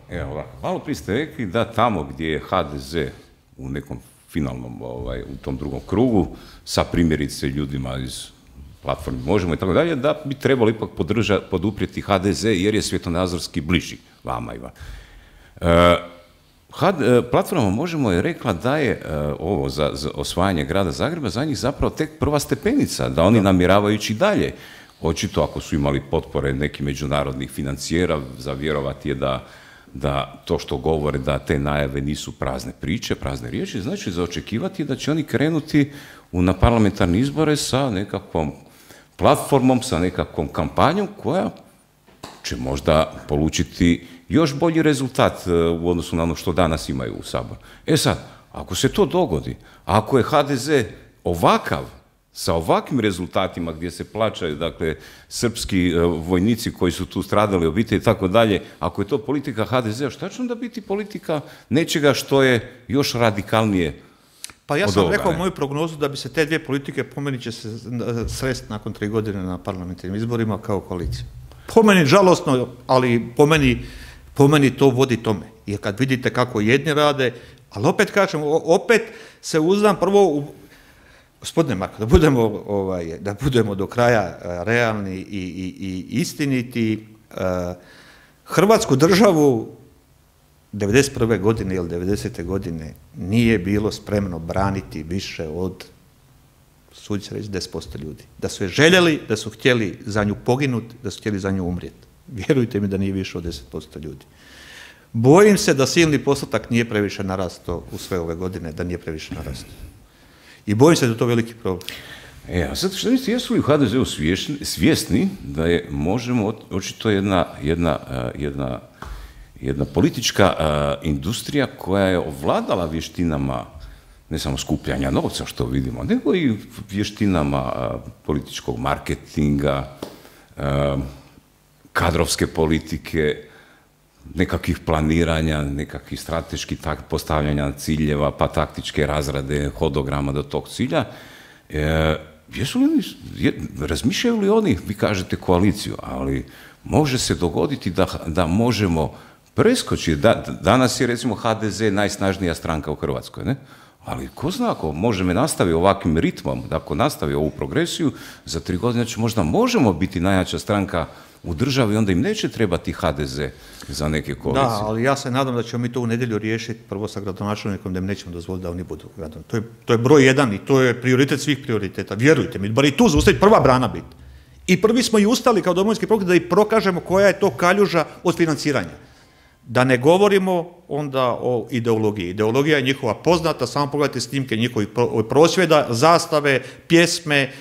Evo, malo prije ste rekli da tamo gdje je HDZ u nekom finalnom, u tom drugom krugu, sa primjerice ljudima iz platforme Možemo i tako dalje, da bi trebalo ipak poduprijeti HDZ jer je svjetonazorski bliži vama i vam. Platforma Možemo je rekla da je ovo za osvajanje grada Zagreba za njih zapravo tek prva stepenica, da oni namjeravaju ići dalje. Očito, ako su imali potpore nekih međunarodnih financijera, za vjerovati je da to što govore, da te najave nisu prazne priče, prazne riječi, znači za očekivati da će oni krenuti na parlamentarne izbore sa nekakvom platformom, sa nekakvom kampanjom koja će možda polučiti još bolji rezultat u odnosu na ono što danas imaju u Saboru. Sad, ako se to dogodi, ako je HDZ ovakav, sa ovakvim rezultatima gdje se plaćaju, dakle, srpski vojnici koji su tu stradali, obitelji i tako dalje, ako je to politika HDZ-a, šta će onda biti politika nečega što je još radikalnije od ovoga? Pa ja sam rekao moju prognozu da bi se te dvije politike, po meni će se sresti nakon 3 godine na parlamentarnim izborima kao koalicija. Po meni žalosno, ali po meni to vodi tome. Jer kad vidite kako jedni rade, ali opet kažem, opet se uzdam prvo u... Gospodine Marko, da budemo do kraja realni i istiniti, Hrvatsku državu 1991. godine ili 1990. godine nije bilo spremno braniti više od, sudi se reći, 10% ljudi. Da su je željeli, da su htjeli za nju poginuti, da su htjeli za nju umrijeti. Vjerujte mi da nije više od 10% ljudi. Bojim se da silni postotak nije previše narastao u sve ove godine, da nije previše narastao. I bojim se da je to veliki problem. A sad što mislite, jesu li u HDZ-u svjesni da je Možemo očito jedna politička industrija koja je ovladala vještinama ne samo skupljanja novca što vidimo, nego i vještinama političkog marketinga, kadrovske politike, nekakvih planiranja, nekakvih strateških postavljanja ciljeva, pa taktičke razrade, hodograma do tog cilja. Razmišljaju li oni, vi kažete koaliciju, ali može se dogoditi da Možemo preskočiti. Danas je recimo HDZ najsnažnija stranka u Hrvatskoj, ne? Ali ko zna, ako Možemo nastavi ovakvim ritmom, da ako nastavi ovu progresiju, za 3 godine će možda Možemo biti najjača stranka u državi, onda im neće trebati HDZ za neke koalicije. Da, ali ja se nadam da ćemo mi to u nedjelju riješiti prvo sa gradonačelnikom, da im nećemo dozvoliti da oni budu gradonačelnici. To je broj 1 i to je prioritet svih prioriteta. Vjerujte mi, bar i tu zaustaviti prva brana biti. I prvi smo i ustali kao Domovinski pokret da i prokažemo koja je to kaljuža od financiranja. Da ne govorimo onda o ideologiji. Ideologija je njihova poznata, samo pogledajte snimke njihovih prosvjeda, zastave, pjesme,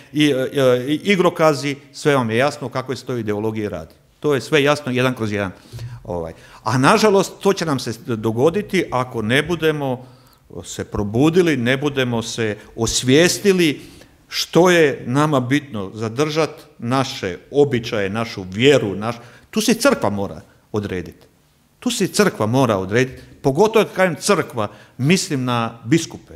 igrokazi, sve vam je jasno kako se to ideologije radi. To je sve jasno 1/1. A nažalost, to će nam se dogoditi ako ne budemo se probudili, ne budemo se osvijestili što je nama bitno zadržati naše običaje, našu vjeru. Tu se crkva mora odrediti. Pogotovo kad kažem crkva, mislim na biskupe,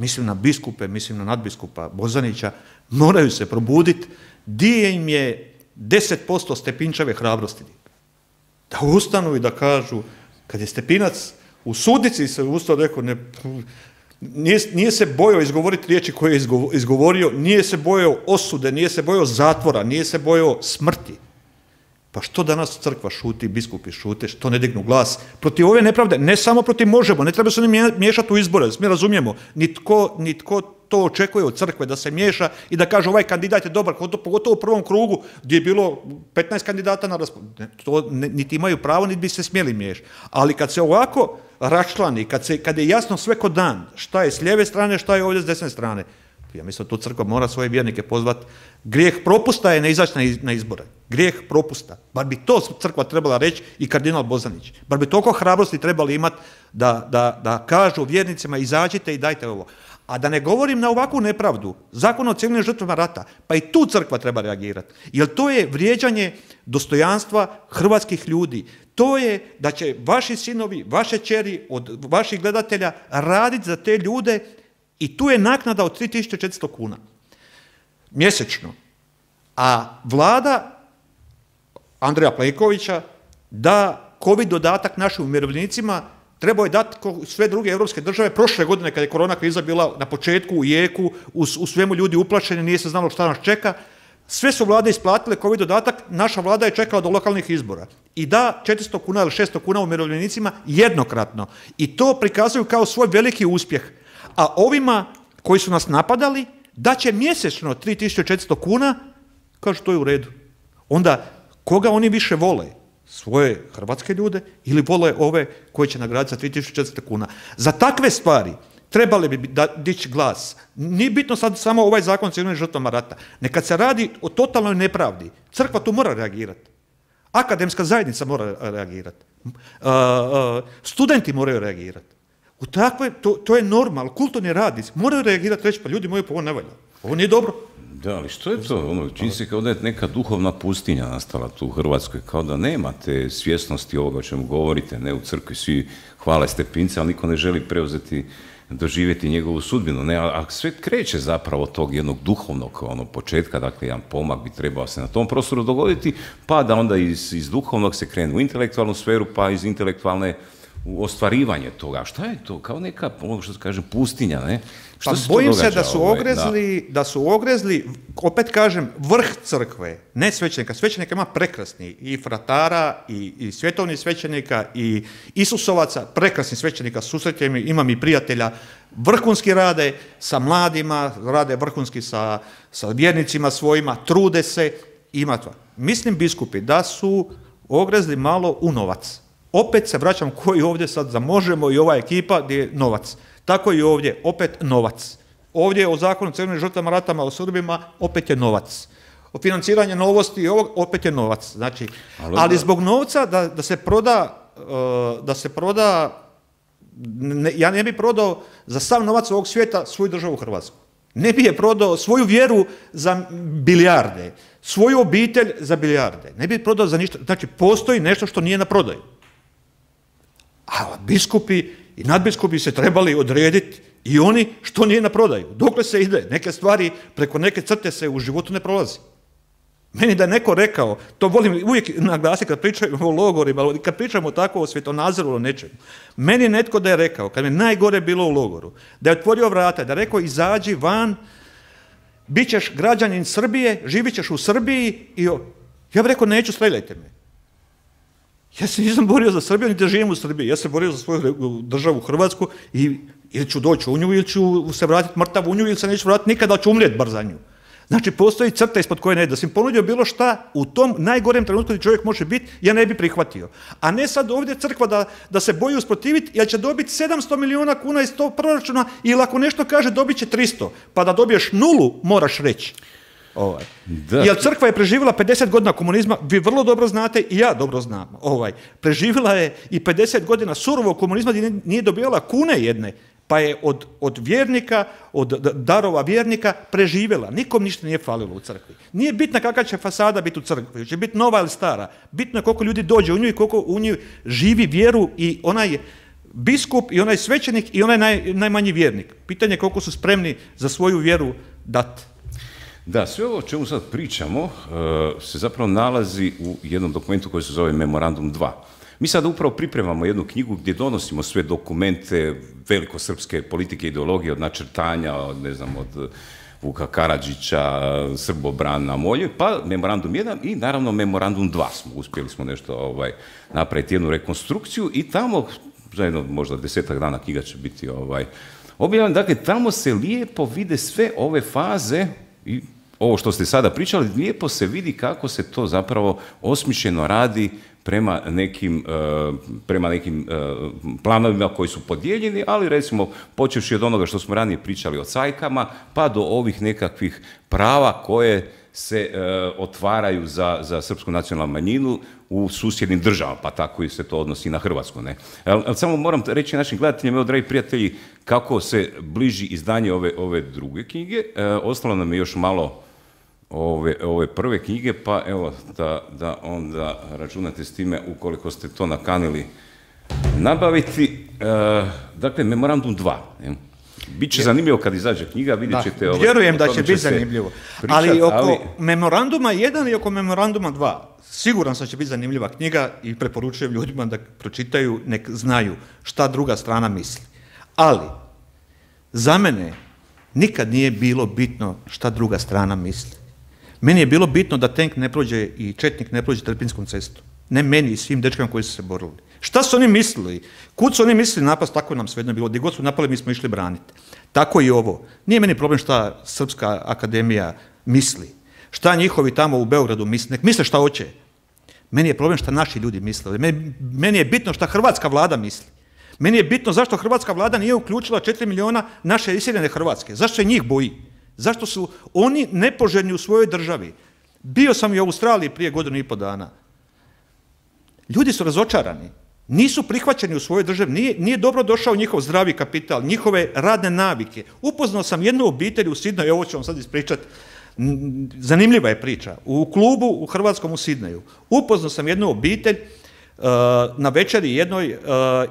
mislim na biskupe, mislim na nadbiskupa Bozanića, moraju se probuditi, di im je 10% Stepinčeve hrabrosti. Da ustanu i da kažu, kad je Stepinac u sudnici se ustao, rekao, nije se bojao izgovoriti riječi koje je izgovorio, nije se bojao osude, nije se bojao zatvora, nije se bojao smrti. Pa što danas crkva šuti, biskupi šute, što ne dignu glas protiv ove nepravde, ne samo protiv Možemo, ne treba se oni miješati u izbore, da se mi razumijemo, nitko to očekuje od crkve da se miješa i da kaže ovaj kandidat je dobar, pogotovo u prvom krugu gdje je bilo 15 kandidata na raspolaganju. To niti imaju pravo, niti bi se smjeli miješati. Ali kad se ovako raščlani, kad je jasno sve ko dan, šta je s lijeve strane, šta je ovdje s desne strane, ja mislim da tu crkva mora svoje vjernike pozvati. Grijeh propusta je ne izaći na izbore. Grijeh propusta. Bar bi to crkva trebala reći i kardinal Bozanić. Bar bi toliko hrabrosti trebali imati da kažu vjernicima izađite i dajte ovo. A da ne govorim na ovakvu nepravdu, Zakon o civilnim žrtvama rata, pa i tu crkva treba reagirati. Jer to je vrijeđanje dostojanstva hrvatskih ljudi. To je da će vaši sinovi, vaše kćeri od vaših gledatelja raditi za te ljude i tu je naknada od 3400 kuna mjesečno. A vlada Andreja Plenkovića da COVID dodatak našim umirovljenicima, trebao je dati sve druge europske države. Prošle godine kad je korona kriza bila na početku, u jeku, u svemu ljudi uplašeni, nije se znalo šta nas čeka, sve su vlade isplatile COVID dodatak, naša vlada je čekala do lokalnih izbora. I da 400 kuna ili 600 kuna umirovljenicima jednokratno. I to prikazuju kao svoj veliki uspjeh. A ovima koji su nas napadali, da će mjesečno 3400 kuna, kažu to je u redu. Onda, koga oni više vole? Svoje hrvatske ljude ili vole ove koji će nagraditi za 3400 kuna? Za takve stvari trebali bi dići glas. Nije bitno sad samo ovaj zakon o civilnim žrtvama rata. Nekad se radi o totalnoj nepravdi. Crkva tu mora reagirati. Akademska zajednica mora reagirati. Studenti moraju reagirati. U takve, to je normal, kulturni radnici moraju reagirati, reći pa ljudi moji, pa ovo ne valja, ovo nije dobro. Da, ali što je to? Čini se kao da je neka duhovna pustinja nastala tu u Hrvatskoj, kao da nema te svjesnosti ovoga o čemu govorite, ne u crkvi, svi hvale Stepinca, ali niko ne želi preuzeti, doživjeti njegovu sudbinu, ne, a sve kreće zapravo od tog jednog duhovnog početka, dakle jedan pomak bi trebao se na tom prostoru dogoditi, pa da onda iz duhovnog se krene u intelektualnu sferu, pa iz intelektualne u ostvarivanje toga. Šta je to? Kao neka, ono što se kaže, pustinja, ne? Pa bojim se da su ogrezli, opet kažem, vrh crkve, ne svećenika. Svećenika ima prekrasni, i fratara, i svjetovnih svećenika, i Isusovaca, prekrasni svećenika, susrećem, imam i prijatelja, vrhunski rade sa mladima, rade vrhunski sa vjernicima svojima, trude se, ima to. Mislim, biskupi, da su ogrezli malo u novac. Opet se vraćam koji ovdje sad za Možemo i ova ekipa gdje je novac. Tako i ovdje, opet novac. Ovdje o zakonu o civilnim žrtvama ratama, o Srbima, opet je novac. O financiranju novosti i ovog, opet je novac. Znači, ali zbog novca da se proda, ja ne bi prodao za sav novac ovog svijeta svoju državu Hrvatsku. Ne bi je prodao svoju vjeru za bilijarde, svoju obitelj za bilijarde. Ne bi je prodao za ništa. Znači, postoji nešto što nije na prodaju. A biskupi i nadbiskupi se trebali odrediti i oni što nije na prodaju. Dokle se ide? Neke stvari preko neke crte se u životu ne prolazi. Meni da je neko rekao, to volim uvijek naglasiti kad pričamo o logorima, ali kad pričamo tako o svjetonazoru o nečemu. Meni netko da je rekao, kad mi najgore bilo u logoru, da je otvorio vrata, da je rekao izađi van, bit ćeš građanin Srbije, živit ćeš u Srbiji i ja bih rekao neću, streljajte me. Ja se nisam borio za Srbiju, niti da živim u Srbiji. Ja se borio za svoju državu Hrvatsku i ili ću doći u nju, ili ću se vratiti mrtav u nju, ili se neću vratiti nikada, ali ću umrijeti bar za nju. Znači, postoji crta ispod koje ne ide. Da sam ponudio bilo šta u tom najgorem trenutku gdje čovjek može biti, ja ne bi prihvatio. A ne sad ovdje crkva da se boji usprotiviti, jer će dobiti 700 milijuna kuna iz tog proračuna, ili ako nešto kaže dobit će 300, pa da dobiješ nulu, moraš reći. Jer crkva je preživjela 50 godina komunizma, vi vrlo dobro znate i ja dobro znam. Preživjela je i 50 godina surovog komunizma gdje nije dobivala kune jedne, pa je od vjernika, od darova vjernika preživjela. Nikom ništa nije falilo u crkvi. Nije bitna kakva će fasada biti u crkvi, će biti nova ili stara. Bitno je koliko ljudi dođe u nju i koliko u nju živi vjeru i onaj biskup i onaj svećenik i onaj najmanji vjernik. Pitanje je koliko su spremni za svoju vjeru dati. Da, sve ovo o čemu sad pričamo se zapravo nalazi u jednom dokumentu koji se zove Memorandum 2. Mi sad upravo pripremamo jednu knjigu gdje donosimo sve dokumente velikosrpske politike i ideologije, od načrtanja, od Vuka Karadžića, Srbobrana, Molje, pa Memorandum 1 i naravno Memorandum 2 uspjeli smo nešto napraviti jednu rekonstrukciju i tamo, za jedno možda 10-ak dana knjiga će biti objavljena, dakle tamo se lijepo vide sve ove faze i ovo što ste sada pričali, lijepo se vidi kako se to zapravo osmišljeno radi prema nekim planovima koji su podijeljeni, ali recimo počevši od onoga što smo ranije pričali o cajkama, pa do ovih nekakvih prava koje se otvaraju za srpsku nacionalnu manjinu u susjednim državama, pa tako i se to odnosi na Hrvatsku. Ne? Ali samo moram reći našim gledateljima, evo, dragi prijatelji, kako se bliži izdanje ove druge knjige. Ostalo nam je još malo ove prve knjige, pa evo da onda računate s time ukoliko ste to nakanili nabaviti. Dakle, Memorandum 2. Biće zanimljivo kad izađe knjiga, vidjet ćete... Vjerujem da će biti zanimljivo. Ali oko Memoranduma 1 i oko Memoranduma 2, siguran sam će biti zanimljiva knjiga i preporučujem ljudima da pročitaju, nek znaju šta druga strana misli. Ali, za mene nikad nije bilo bitno šta druga strana misli. Meni je bilo bitno da tenk ne prođe i četnik ne prođe Trpinjskom cestom. Ne meni i svim dečkama koji su se borili. Šta su oni mislili? Kud su oni mislili napast, tako nam svejedno bilo. Gdje god su napali, mi smo išli braniti. Tako i ovo. Nije meni problem šta Srpska akademija misli. Šta njihovi tamo u Beogradu misle. Nek misle šta hoće. Meni je problem šta naši ljudi misle. Meni je bitno šta hrvatska vlada misli. Meni je bitno zašto hrvatska vlada nije uključila 4 miliona naše iseljene Hrvatske. Zašto se njih boji? Zašto su oni nepoželjni u svojoj državi? Bio sam i u Australiji prije 1,5 godina. Ljudi su razočarani. Nisu prihvaćeni u svojoj državi. Nije dobro došao njihov zdravi kapital, njihove radne navike. Upoznao sam jednu obitelj u Sidneju, ovo ću vam sad ispričati. Zanimljiva je priča. U klubu u hrvatskom u Sidneju. Upoznao sam jednu obitelj na večeri jednoj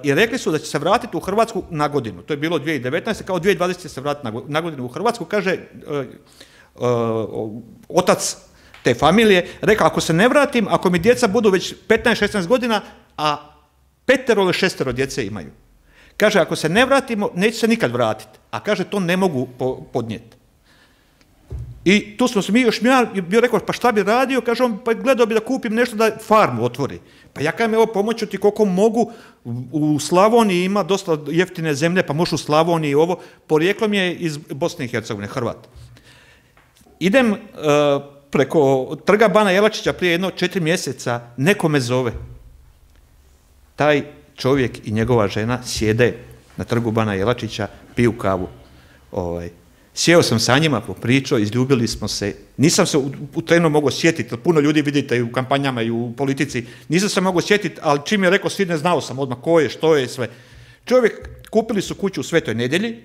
i rekli su da će se vratiti u Hrvatsku na godinu. To je bilo 2019. Kao 2020 će se vratiti na godinu u Hrvatsku. Kaže otac te familije, rekao ako se ne vratim, ako mi djeca budu već 15-16 godina, a 5 ili 6 djece imaju. Kaže ako se ne vratimo, neće se nikad vratiti. A kaže to ne mogu podnijeti. I tu smo se mi još, ja bio rekao, pa šta bi radio? Kaže on, pa gledao bi da kupim nešto da farmu otvori. Pa ja kažem, evo pomoću ti koliko mogu, u Slavoniji ima dosta jeftine zemlje, pa možeš u Slavoniji ovo, porijeklom je iz Bosne i Hercegovine, Hrvat. Idem preko trga Bana Jelačića prije 4 mjeseca, neko me zove. Taj čovjek i njegova žena sjede na trgu Bana Jelačića, piju kavu. Sjeo sam sa njima, popričao, izljubili smo se. Nisam se u trenu mogao sjetiti, puno ljudi vidite i u kampanjama i u politici, nisam se mogao sjetiti, ali čim je rekao Sidne, znao sam odmah ko je, što je, sve. Čovjek, kupili su kuću u Svetoj Nedjelji,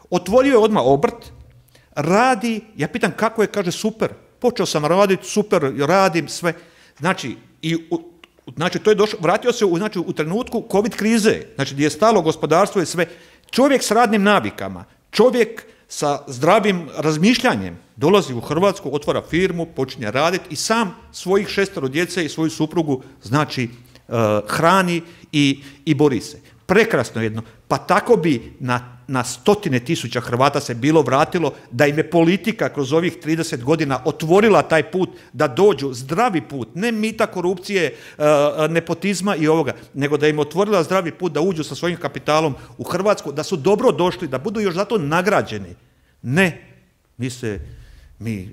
otvorio je odmah obrt, radi, ja pitam kako je, kaže super, počeo sam raditi, super, radim, sve. Znači, to je došlo, vratio se u trenutku COVID krize, znači gdje je stalo gospodarstvo i sve. Čovjek s radnim navikama, čovjek sa zdravim razmišljanjem dolazi u Hrvatsku, otvara firmu, počinje raditi i sam svojih 6 djece i svoju suprugu, znači, hrani i bori se. Prekrasno jedno. Pa tako bi na stotine tisuća Hrvata se bilo vratilo da im je politika kroz ovih 30 godina otvorila taj put da dođu, zdravi put, ne mita, korupcije, nepotizma i ovoga, nego da im otvorila zdravi put da uđu sa svojim kapitalom u Hrvatsku, da su dobro došli, da budu još zato nagrađeni. Ne, mi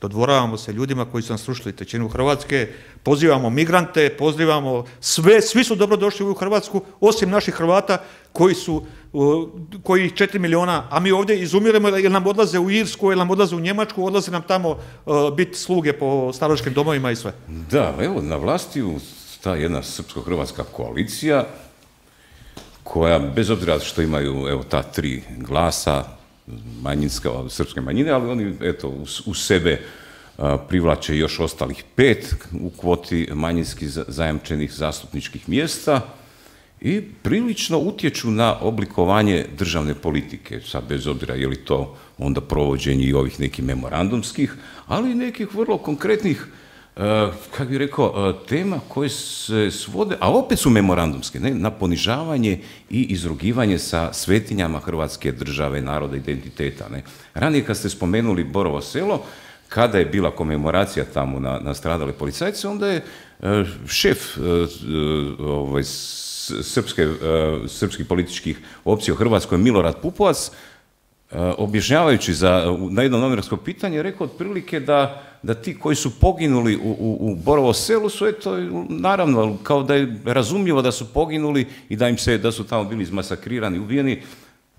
dodvoravamo se ljudima koji su nam srušili trećinu Hrvatske, pozivamo migrante, pozivamo svi su dobro došli u Hrvatsku, osim naših Hrvata koji 4 miliona, a mi ovdje izumiremo jer nam odlaze u Irsku, jer nam odlaze u Njemačku, odlaze nam tamo biti sluge po staračkim domovima i sve. Da, evo, na vlasti ta jedna srpsko-hrvatska koalicija koja, bez obzira što imaju ta 3 glasa, manjinska, srpske manjine, ali oni, u sebe privlače još ostalih 5 u kvoti manjinskih zajamčenih zastupničkih mjesta i prilično utječu na oblikovanje državne politike, sad bez obzira je li to onda provođenje i ovih nekih memorandumskih, ali i nekih vrlo konkretnih, kako bih rekao, tema koje se svode, a opet su memorandumske, ne, na ponižavanje i izrugivanje sa svetinjama Hrvatske države, naroda, identiteta. Ne. Ranije kad ste spomenuli Borovo Selo, kada je bila komemoracija tamo na stradale policajce, onda je šef srpskih političkih opcija u Hrvatskoj, Milorad Pupovac, objašnjavajući na jedno novinarsko pitanje, rekao otprilike da ti koji su poginuli u Borovo Selu su, eto, naravno, kao da je razumljivo da su poginuli i da su tamo bili izmasakrirani, ubijeni,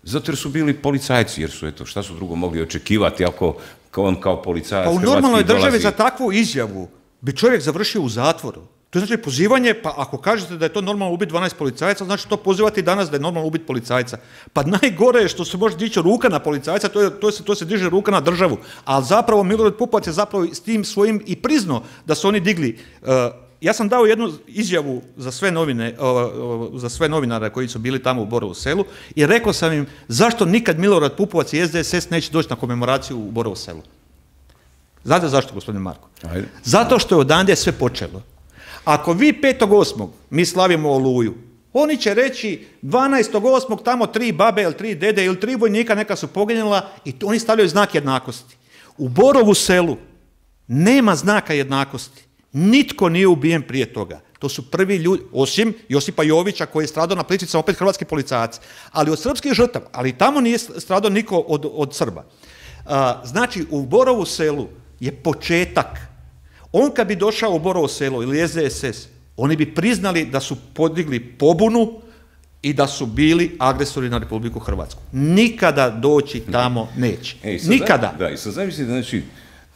zato jer su bili policajci, jer su, eto, šta su drugo mogli očekivati ako on kao policajac hrvatski dolazi. Pa u normalnoj državi za takvu izjavu bi čovjek završio u zatvoru. To znači pozivanje, pa ako kažete da je to normalno ubiti 12 policajaca, znači to pozivati danas da je normalno ubiti policajca. Pa najgore je što se može dići ruka na policajca, to se diže ruka na državu. Ali zapravo Milorad Pupovac je zapravo s tim svojim i priznao da su oni digli. Ja sam dao jednu izjavu za sve novinare koji su bili tamo u Borovu Selu i rekao sam im zašto nikad Milorad Pupovac i SDSS neće doći na komemoraciju u Borovu Selu. Znate zašto, gospodine Marko? Ajde. Zato što je odande sve počelo. Ako vi 5.8. mi slavimo Oluju, oni će reći 12.8. tamo 3 babe ili 3 dede ili 3 vojnika neka su poginula i oni stavljaju znak jednakosti. U Borovu Selu nema znaka jednakosti. Nitko nije ubijen prije toga. To su prvi ljudi, osim Josipa Jovića koji je stradao na Plitvicama, opet hrvatski policajac. Ali od srpskih žrtava, ali tamo nije stradao niko od Srba. Znači, u Borovu Selu je početak. On kad bi došao u Borovo Selo ili SDSS, oni bi priznali da su podigli pobunu i da su bili agresori na Republiku Hrvatsku. Nikada doći tamo neće. Nikada. Da, i sad zamislite, znači,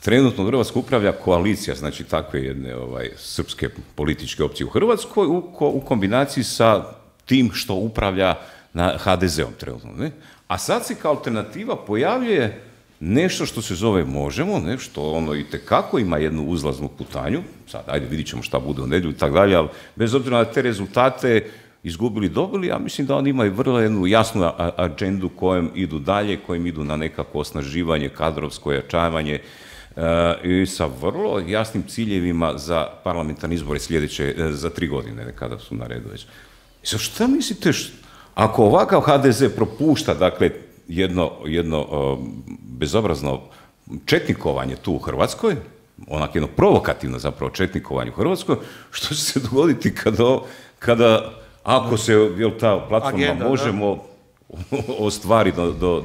trenutno Hrvatsku upravlja koalicija, znači takve jedne srpske političke opcije u Hrvatskoj u kombinaciji sa tim što upravlja na HDZ-om trenutno. Ne? A sad se kao alternativa pojavljuje nešto što se zove Možemo, ne, što ono itekako ima jednu uzlaznu putanju, sad ajde vidit ćemo šta bude u nedjelju i tako dalje, ali bez obzira na te rezultate izgubili, dobili, ja mislim da oni imaju vrlo jednu jasnu agendu kojom idu dalje, kojim idu na nekako osnaživanje, kadrovsko jačavanje i sa vrlo jasnim ciljevima za parlamentarne izbore sljedeće, za 3 godine, kada su na redu već. I sad šta mislite, ako ovakav HDZ propušta, dakle, jedno bezobrazno četnikovanje tu u Hrvatskoj, onak jedno provokativno zapravo četnikovanje u Hrvatskoj, što će se dogoditi kada ako se ta platforma Možemo ostvari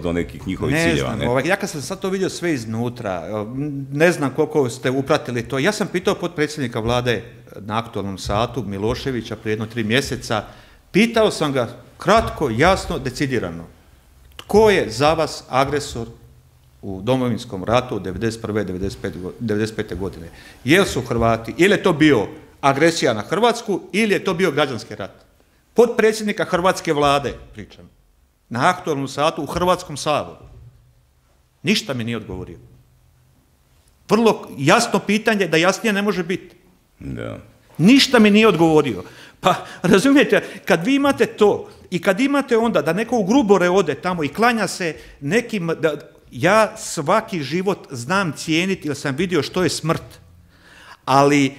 do nekih njihovih ciljeva? Ne znam, ja kad sam sad to vidio sve iznutra, ne znam koliko ste upratili to. Ja sam pitao potpredsjednika vlade na Aktualnom satu, Miloševića, prije 3 mjeseca, pitao sam ga kratko, jasno, decidirano. Tko je za vas agresor u Domovinskom ratu od 1991. 1995. godine? Jel su Hrvati, ili je to bio agresija na Hrvatsku, ili je to bio građanski rat? Potpredsjednika hrvatske vlade, pričam, na Aktualnom satu u Hrvatskom saboru. Ništa mi nije odgovorio. Vrlo jasno pitanje, da jasnije ne može biti. Da. Ništa mi nije odgovorio. Pa, razumijete, kad vi imate to i kad imate onda da neko u Grubore ode tamo i klanja se nekim, ja svaki život znam cijeniti jer sam vidio što je smrt, ali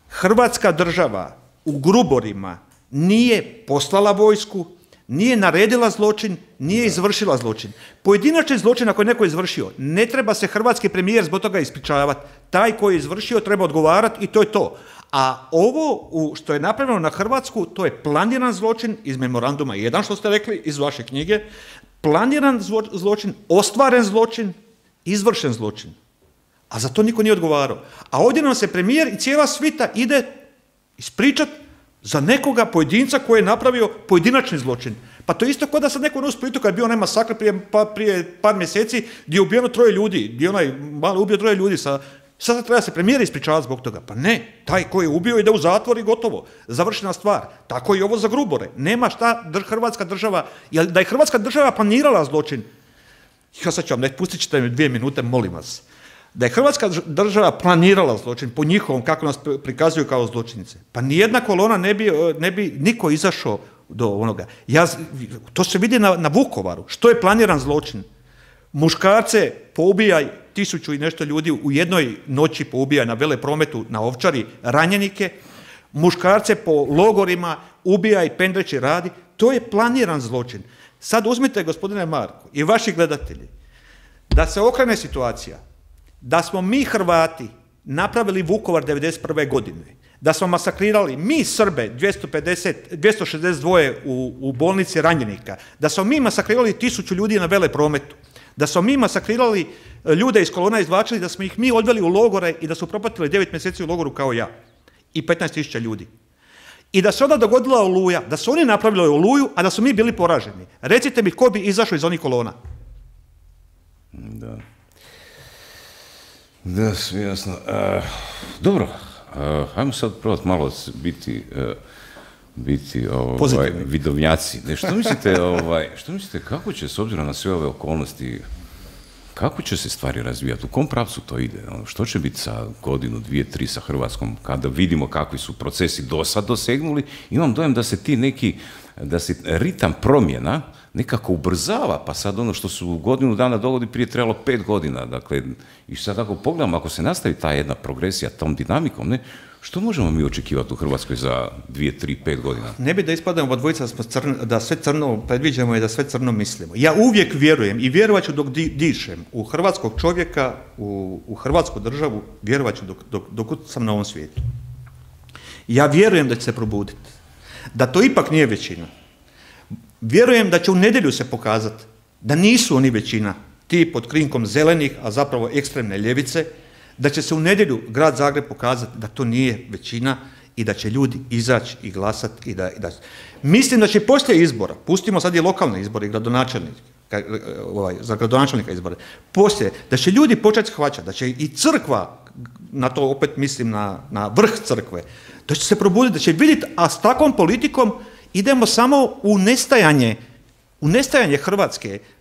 Hrvatska država u Gruborima nije poslala vojsku, nije naredila zločin, nije izvršila zločin. Pojedinačni zločin ako je neko izvršio, ne treba se hrvatski premijer zbog toga ispričavati. Taj koji je izvršio treba odgovarati i to je to. A ovo što je napravljeno na Hrvatsku, to je planiran zločin iz memoranduma 1, što ste rekli, iz vaše knjige. Planiran zločin, ostvaren zločin, izvršen zločin. A za to niko nije odgovarao. A ovdje nam se premijer i cijela svita ide ispričati za nekoga pojedinca koji je napravio pojedinačni zločin. Pa to je isto kao da sad neko u Splitu kad je bio onaj masakr prije par mjeseci gdje je ubijeno 3 ljudi, gdje je onaj malo ubio 3 ljudi sad treba se premijer ispričavati zbog toga. Pa ne, taj koji je ubio ide u zatvor i gotovo. Završena stvar. Tako i ovo za Grubore. Nema šta Hrvatska država, da je Hrvatska država planirala zločin. Ja sad ću vam reći, pustit ćete mi 2 minute, molim vas. Da je Hrvatska država planirala zločin po njihovom, kako nas prikazuju kao zločinice, pa nijedna kolona ne bi niko izašao do onoga. To se vidi na Vukovaru. Što je planiran zločin? Muškarce poubijaj 1000 i nešto ljudi u jednoj noći poubijaj na veleprometu na Ovčari, ranjenike, muškarce po logorima ubijaj, pendreći radi. To je planiran zločin. Sad uzmite, gospodine Marko, i vaši gledatelji, da se okrene situacija, da smo mi Hrvati napravili Vukovar 1991. godine, da smo masakrirali mi Srbe 262 u bolnici ranjenika, da smo mi masakrirali 1000 ljudi na veleprometu, da smo mi masakrirali ljude iz kolona, izvlačili, da smo ih mi odveli u logore i da su propatili 9 mjeseci u logoru kao ja i 15.000 ljudi. I da se onda dogodila Oluja, da su oni napravili Oluju, a da su mi bili poraženi. Recite mi ko bi izašao iz onih kolona? Da, sve jasno. Dobro, ajmo sad probati malo biti vidovnjaci. Što mislite, kako će, s obzirom na sve ove okolnosti, kako će se stvari razvijati? U kom pravcu to ide? Što će biti sa godinu, 2, 3 sa Hrvatskom, kada vidimo kakvi su procesi do sad dosegnuli? Imam dojam da se da se ritam promjena nekako ubrzava, pa sad ono što su godinu dana dogodi prije trebalo 5 godina. Dakle, i sad ako pogledamo, ako se nastavi ta jedna progresija tom dinamikom, ne, što možemo mi očekivati u Hrvatskoj za 2, 3, 5 godina? Ne bi da ispadamo dvojica da sve crno predviđamo i da sve crno mislimo. Ja uvijek vjerujem i vjerovat ću dok dišem u hrvatskog čovjeka, u hrvatsku državu, vjerovat ću dok sam na ovom svijetu. Ja vjerujem da će se probuditi. Da to ipak nije većina. Vjerujem da će u nedjelju se pokazati da nisu oni većina, ti pod krinkom zelenih, a zapravo ekstremne ljevice, da će se u nedjelju grad Zagreb pokazati da to nije većina i da će ljudi izaći i glasati. Mislim da će poslije izbora, pustimo sad i lokalne izbore, za gradonačelnika izbore, poslije, da će ljudi početi shvaćati, da će i crkva, na to opet mislim na vrh crkve, da će se probuditi, da će vidjeti, a s takvom politikom idemo samo u nestajanje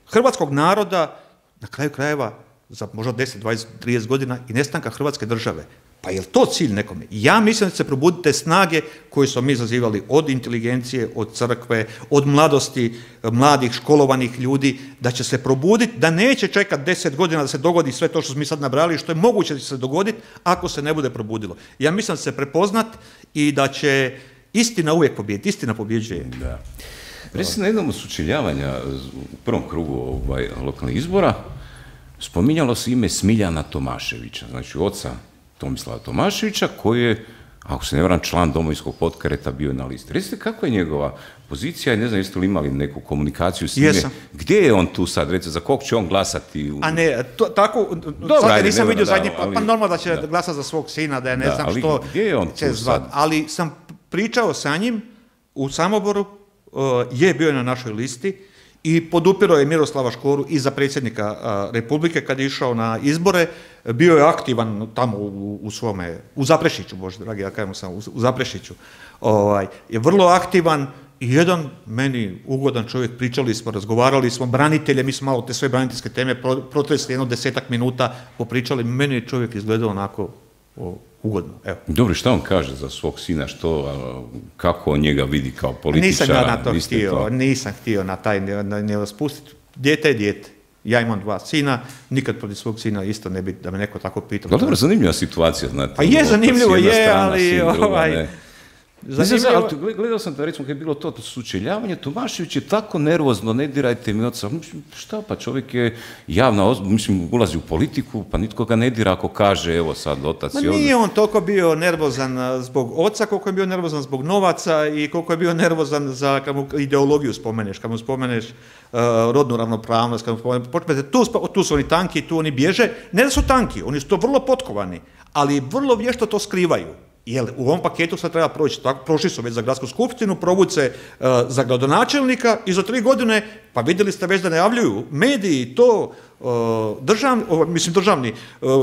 hrvatskog naroda, na kraju krajeva, za možda 10, 20, 30 godina i nestanka Hrvatske države. Pa je li to cilj nekome? Ja mislim da će se probuditi te snage koje smo mi zazivali od inteligencije, od crkve, od mladosti, mladih, školovanih ljudi, da će se probuditi, da neće čekati 10 godina da se dogodi sve to što smo mi sad nabrali, što je moguće da će se dogoditi ako se ne bude probudilo. Ja mislim da će se prepoznat i da će istina uvijek pobijediti. Istina pobjeđuje. Da. Recimo na jednom od sučeljavanja u prvom krugu lokalnih izbora spominjalo se ime Smiljana Tomaševića, znači oca Tomislava Tomaševića, koji je, ako se ne varam, član Domovinskog pokreta, bio na listi. Recite kako je njegova pozicija i ne znam jeste li imali neku komunikaciju s njime? Jesam. Gdje je on tu sad, recite, za kog će on glasati? A ne, tako, sad nisam vidio zadnji, pa normalno da će glasati za svog sina, da je ne znam što gdje je on tu sad? Ali sam pričao sa njim u Samoboru, je bio na našoj listi i podupirao je Miroslava Škoru i za predsjednika Republike kad je išao na izbore. Bio je aktivan tamo u Zaprešiću, Bože dragi, ja kažem sam, u Zaprešiću. Je vrlo aktivan i jedan meni ugodan čovjek, pričali smo, razgovarali smo, branitelje, mi smo malo te sve braniteljske teme protresli, jedno 10 minuta popričali, meni je čovjek izgledao onako ugodno. Evo. Dobro, šta on kaže za svog sina, kako on njega vidi kao političara? Nisam ja na to htio, nisam htio na taj ne spustiti. Dijete je dijete. Ja imam 2 sina, nikad protiv svog sina isto ne bi da me neko tako pitao. Dobro, zanimljiva situacija, znate. Pa je zanimljivo, je, ali gledao sam da, recimo, kad je bilo to sučeljavanje, Tomašević je tako nervozno, ne dirajte mi oca. Šta pa, čovjek je javna osoba, ulazi u politiku, pa nitko ga ne dira ako kaže, evo sad otac je ovdje. Nije on toliko bio nervozan zbog oca, koliko je bio nervozan zbog novaca i koliko je bio nervozan za kad mu ideologiju spomeneš, kad mu spomeneš rodnu ravnopravnost, kad mu spomeneš, tu su oni tanki, tu oni bježe. Ne da su tanki, oni su to vrlo potkovani, ali vrlo vješto to skrivaju. Jer u ovom paketu sad treba proći, prošli su već za gradsku skupštinu, provući se za gradonačelnika i za 3 godine, pa vidjeli ste već da najavljuju mediji to, državni,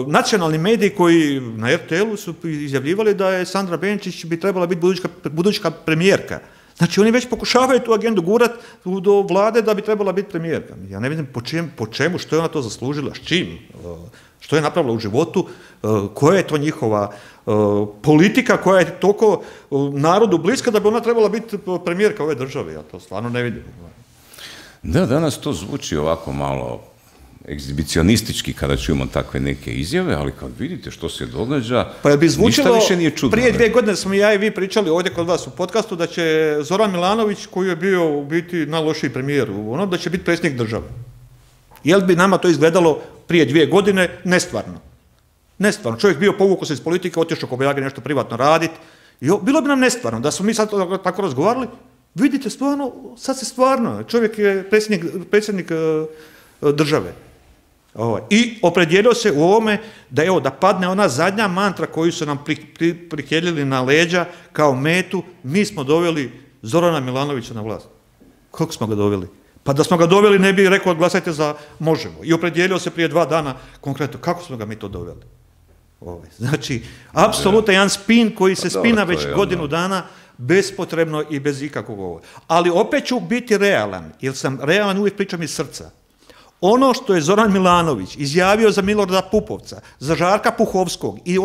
nacionalni mediji koji na RTL-u su izjavljivali da je Sandra Benčić bi trebala biti buduća premijerka. Znači, oni već pokušavaju tu agendu gurati do vlade da bi trebala biti premijerka. Ja ne vidim po čemu, što je ona to zaslužila, s čim, što je napravila u životu, koja je to njihova politika koja je toliko narodu bliska da bi ona trebala biti premijerka ove države. Ja to stvarno ne vidim. Da, danas to zvuči ovako malo egzibicionistički kada čujemo takve neke izjave, ali kad vidite što se događa, pa bi zvučilo, ništa više nije čudno. Prije 2 godine smo ja i vi pričali ovdje kod vas u podcastu da će Zoran Milanović, koji je bio u biti najlošiji premijer, da će biti predsjednik države. Jel bi nama to izgledalo prije 2 godine? Nestvarno. Nestvarno. Čovjek bio povukao se iz politike, otišao Kobajagi nešto privatno raditi. Bilo bi nam nestvarno da smo mi sad tako razgovarali. Vidite, stvarno, sad se stvarno, čovjek je predsjednik države. I opredijelio se u ovome da padne ona zadnja mantra koju su nam prikelili na leđa kao metu, mi smo doveli Zorana Milanovića na vlast. Kako smo ga doveli? Pa da smo ga doveli ne bi rekao glasajte za Možemo. I opredijelio se prije 2 dana konkretno. Kako smo ga mi to doveli? Znači, apsolutno jedan spin koji se spina već godinu dana bespotrebno i bez ikakvog ovoga. Ali opet ću biti realan, jer sam realan, uvijek pričam iz srca. Ono što je Zoran Milanović izjavio za Milorada Pupovca, za Žarka Puhovskog i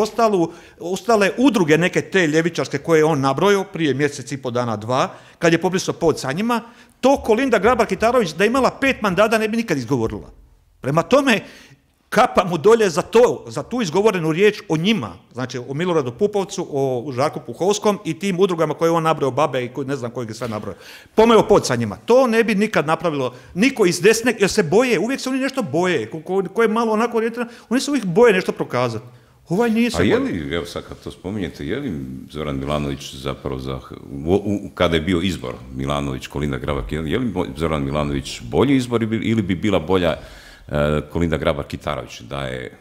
ostale udruge neke te ljevičarske koje je on nabrojao prije 1,5 mjeseca, 2, kad je pobrisao pod sa njima, to Kolinda Grabar-Kitarović da je imala 5 mandata ne bi nikad izgovorila. Prema tome, kapa mu dolje za tu izgovorenu riječ o njima, znači o Miloradu Pupovcu, o Žarku Puhovskom i tim udrugama koje on nabrojao, babe i ne znam kojeg je sve nabrojao. Pomeo pod sa njima. To ne bi nikad napravilo niko iz desne, jer se boje, uvijek se oni nešto boje, ko je malo onako orijentirano, oni se uvijek boje nešto prokazati. Ovaj nije se boje. A je li, evo sad kad to spominjete, je li Zoran Milanović zapravo, kada je bio izbor Milanović, Kolinda Grabar-Kitarović, je li Zoran Milanović bolji izbor ili bi bila bolja Kolinda Grabar-Kitarović da je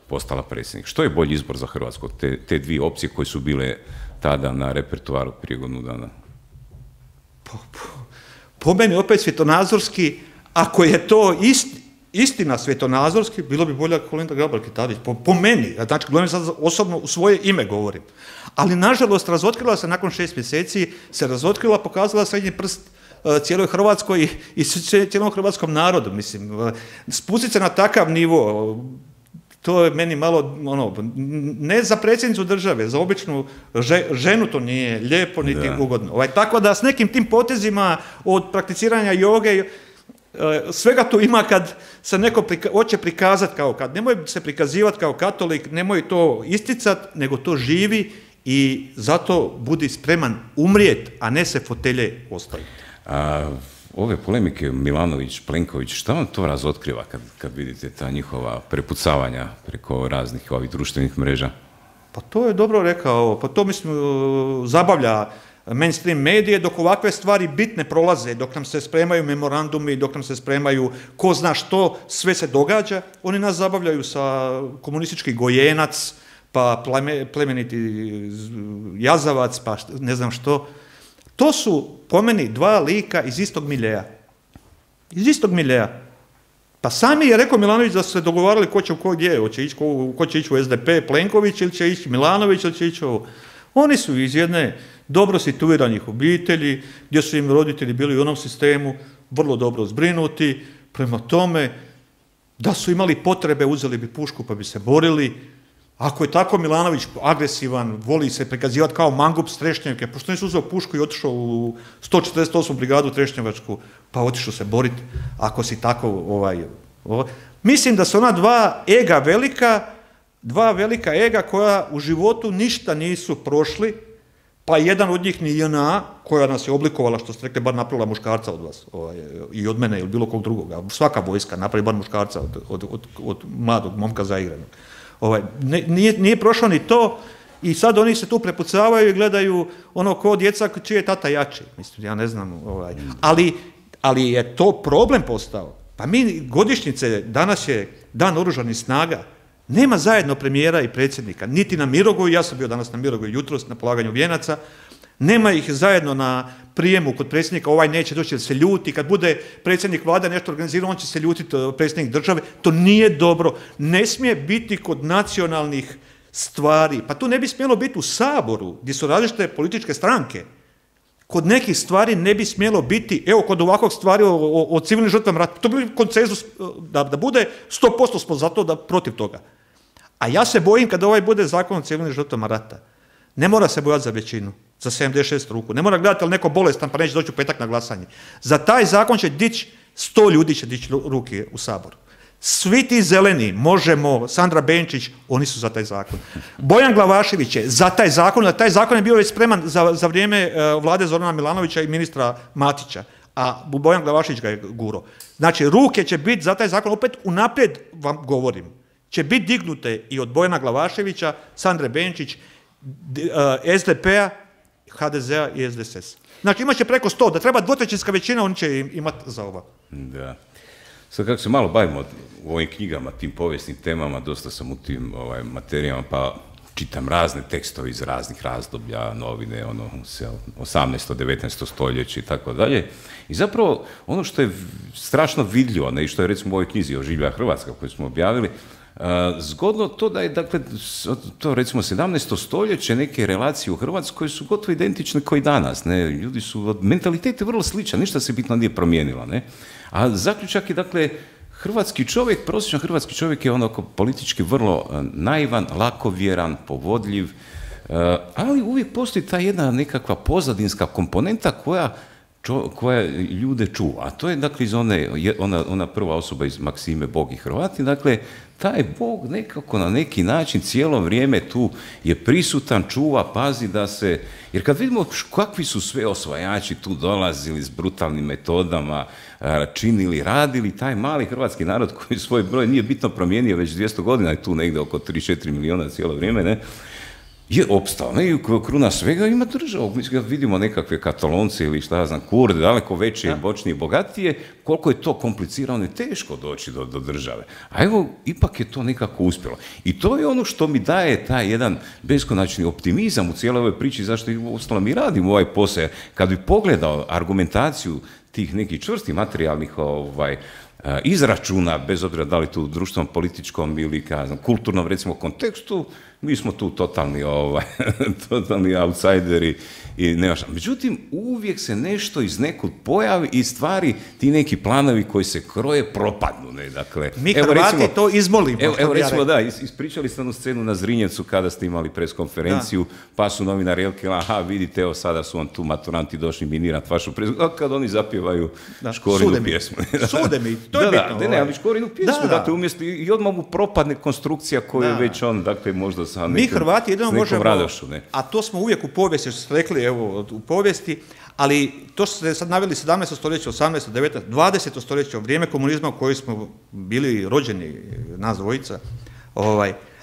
postala predsjednik? Što je bolji izbor za Hrvatsku? Te 2 opcije koje su bile tada na repertoaru prije godinu dana? Po meni opet svjetonazorski, ako je to istina svjetonazorski, bilo bi bolja Kolinda Grabar-Kitarović. Po meni, znači gledam sad osobno u svoje ime govorim. Ali nažalost razotkrila se nakon 6 mjeseci, pokazala srednji prst cijeloj Hrvatskoj i cijelom hrvatskom narodu, mislim. Spustiti se na takav nivo, to je meni malo, ne za predsjednicu države, za običnu ženu to nije lijepo niti ugodno. Tako da s nekim tim potezima od prakticiranja joge, svega tu ima kad se neko hoće prikazati kao kad. Nemoj se prikazivati kao katolik, nemoj to isticati, nego to živi i zato budi spreman umrijeti, a ne se fotelje ostaviti. Ove polemike Milanović-Plenković, šta vam to razotkriva kad vidite ta njihova prepucavanja preko raznih ovih društvenih mreža? Pa to je dobro rekao, pa to mislim zabavlja mainstream medije dok ovakve stvari bitne prolaze, dok nam se spremaju memorandumi, dok nam se spremaju ko zna što, sve se događa, oni nas zabavljaju sa komunistički gojenac, pa plemeniti jazavac, pa ne znam što. To su, po meni, 2 lika iz istog miljeja. Iz istog miljeja. Pa sami je rekao Milanović da su se dogovarali ko će u ko gdje, ko će ići u SDP, Plenković, ili će ići Milanović, ili će ići ovo. Oni su iz jedne dobro situiranih obitelji, gdje su im roditelji bili u onom sistemu, vrlo dobro zbrinuti, prema tome, da su imali potrebe, uzeli bi pušku pa bi se borili. Ako je tako Milanović agresivan, voli se prikazivati kao mangup s Trešnjevke, pošto nisi uzeo pušku i otišao u 148. brigadu Trešnjevačku, pa otišao se boriti, ako si tako Mislim da su ona 2 ega velika, 2 velika ega koja u životu ništa nisu prošli, pa jedan od njih ni JNA, koja nas je oblikovala, što ste rekli, bar napravila muškarca od vas, i od mene ili bilo kog drugoga. Svaka vojska napravi bar muškarca od mladog momka zaigranog. Nije prošlo ni to i sad oni se tu prepucavaju i gledaju ko djeca čiji je tata jači. Mislim, ja ne znam. Ali je to problem postao. Pa mi godišnjice, danas je Dan oružanih snaga, nema zajedno premijera i predsjednika, niti na Mirogoju, ja sam bio danas na Mirogoju jutros na polaganju vijenaca, nema ih zajedno na prijemu kod predsjednika, ovaj neće doći jer se ljuti, kad bude predsjednik vlade nešto organizirao, on će se ljutiti predsjednik države, to nije dobro, ne smije biti kod nacionalnih stvari, pa tu ne bi smjelo biti u Saboru, gdje su različite političke stranke, kod nekih stvari ne bi smjelo biti, evo kod ovakvog stvari o civilnim žrtvama rata, to bi konsenzus da bude 100% smo zato da protiv toga. A ja se bojim kada ovaj bude zakon o civilnim žrtvama rata, ne mora se bojati za većinu, za 76 ruku, ne mora gledati ali neko bolestan pa neće doći u petak na glasanje. Za taj zakon će dići, 100 ljudi će dići ruke u Saboru. Svi ti zeleni, Možemo, Sandra Benčić, oni su za taj zakon. Bojan Glavašević je za taj zakon, a taj zakon je bio već spreman za vrijeme vlade Zorana Milanovića i ministra Matića, a Bojan Glavašević ga je guro. Znači, ruke će biti za taj zakon, opet unaprijed vam govorim, će biti dignute i od Bojana Glavaševića, Sandre Benčić, SDP-a, HDZ-a i SDSS. Znači, imat će preko 100, da treba dvotrećinska većina, oni će imati za ovo. Da. Sad kako se malo bavimo u ovim knjigama, tim povijesnim temama, dosta sam u tim materijama, pa čitam razne tekstove iz raznih razdoblja, novine, 18. 19. stoljeće i tako dalje. I zapravo ono što je strašno vidljivo, ne, i što je recimo u ovoj knjizi Oživlja Hrvatska koju smo objavili, zgodno to da je, dakle, to recimo 17. stoljeće, neke relacije u Hrvatskoj su gotovo identične kao i danas, ne, ljudi su, mentalitet je vrlo sličan, ništa se bitno nije promijenilo, ne, a zaključak je, dakle, hrvatski čovjek, prosječan hrvatski čovjek je onako politički vrlo naivan, lakovjeran, povodljiv, ali uvijek postoji ta jedna nekakva pozadinska komponenta koja ljude čuva. A to je, dakle, iz ona prva osoba iz Maksime Bog i Hrvati, dakle, taj Bog nekako na neki način cijelo vrijeme tu je prisutan, čuva, pazi da se, jer kad vidimo kakvi su sve osvajači tu dolazili s brutalnim metodama, činili, radili, taj mali hrvatski narod koji svoj broj nije bitno promijenio već 200 godina, je tu negdje oko 3-4 milijuna cijelo vrijeme, ne, je opstao, ne, i kruna svega ima državu. Mi vidimo nekakve Katalonce ili šta ja znam, Kurde, daleko veće, moćnije, bogatije, koliko je to komplicirano i teško doći do države. A evo, ipak je to nekako uspjelo. I to je ono što mi daje taj jedan beskonačni optimizam u cijeloj ovoj priči, zašto i ostalo mi radimo ovaj posao. Kad bi pogledao argumentaciju tih nekih čvrstih materijalnih izračuna, bez obzira da li tu društvenom, političkom ili kulturnom, recimo, kontekstu, mi smo tu totalni outsideri i nema šta. Međutim, uvijek se nešto iz nekud pojavi i stvari, ti neki planovi koji se kroje, propadnu. Ne? Dakle, mi Hrvati recimo, to izmolimo. Evo recimo, da, ispričali ste onu scenu na Zrinjevcu kada ste imali preskonferenciju, pa su novinari rekli, aha, vidite, evo sada su vam tu maturanti došli minirati vašu preskonferenciju, a kad oni zapjevaju Škorinu pjesmu. Sude mi, to je bitno. Ne, ali Škorinu pjesmu, dakle, umjesto i odmah mu propadne konstrukcija koju je već on, dakle, možda sa nekom, mi Hrvati jedino možemo, radošću, ne? A to smo uvijek u povijesti, što ste rekli, evo, u povijesti, ali to ste sad naveli 17. stoljeće, 18. 19. 20. stoljeće, vrijeme komunizma u kojoj smo bili rođeni, nas dvojica,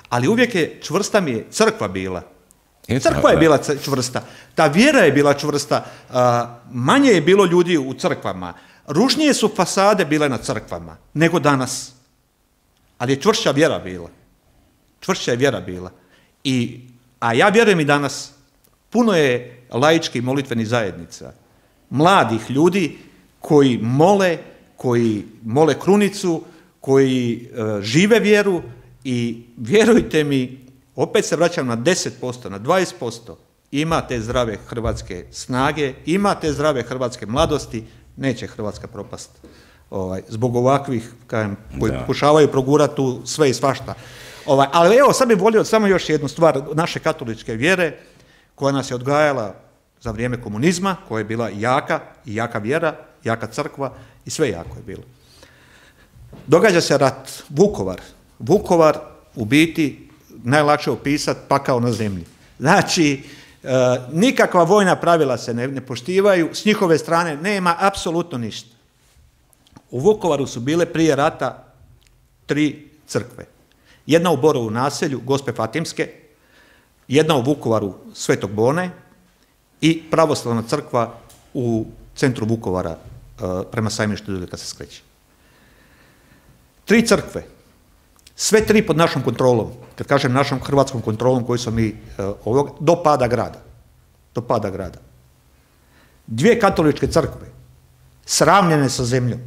ali uvijek je čvrsta mi je crkva bila. Crkva je bila čvrsta, ta vjera je bila čvrsta, manje je bilo ljudi u crkvama, ružnije su fasade bile na crkvama nego danas, ali je čvršća vjera bila. Čvršća je vjera bila. A ja vjerujem i danas, puno je laičkih molitvenih zajednica, mladih ljudi koji mole krunicu, koji žive vjeru i vjerujte mi, opet se vraćam na 10%, na 20%, imate zdrave hrvatske snage, imate zdrave hrvatske mladosti, neće Hrvatska propast zbog ovakvih koji pokušavaju progurati tu sve i svašta. Ali evo, sad bih volio samo još jednu stvar naše katoličke vjere koja nas je odgajala za vrijeme komunizma, koja je bila jaka vjera, jaka crkva i sve jako je bilo. Događa se rat, Vukovar u biti najlakše opisati pakao na zemlji. Znači, nikakva vojna pravila se ne poštivaju, s njihove strane nema apsolutno ništa. U Vukovaru su bile prije rata 3 crkve. Jedna u Borovu naselju, Gospe Fatimske, jedna u Vukovaru Svetog Bone i pravoslavna crkva u centru Vukovara prema Sajmištu Dudeka se skreće. 3 crkve, sve 3 pod našom kontrolom, kad kažem našom hrvatskom kontrolom koju smo mi do pada grada. 2 katoličke crkve, sravnjene sa zemljom.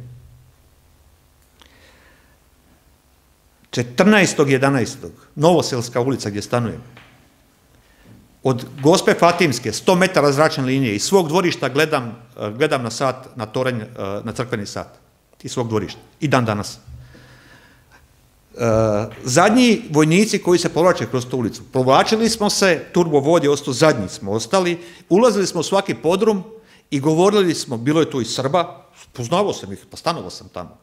14.11. Novoselska ulica gdje stanujem. od Gospe Fatimske, 100 metara zračne linije, iz svog dvorišta gledam na sat, na toranj, na crkveni sat. Iz svog dvorišta. I dan danas. Zadnji vojnici koji se povlače kroz tu ulicu. Provlačili smo se, turbovod je ostao, zadnji smo ostali, ulazili smo u svaki podrum i govorili smo, bilo je tu i Srba, poznavao sam ih, pa stanovao sam tamo.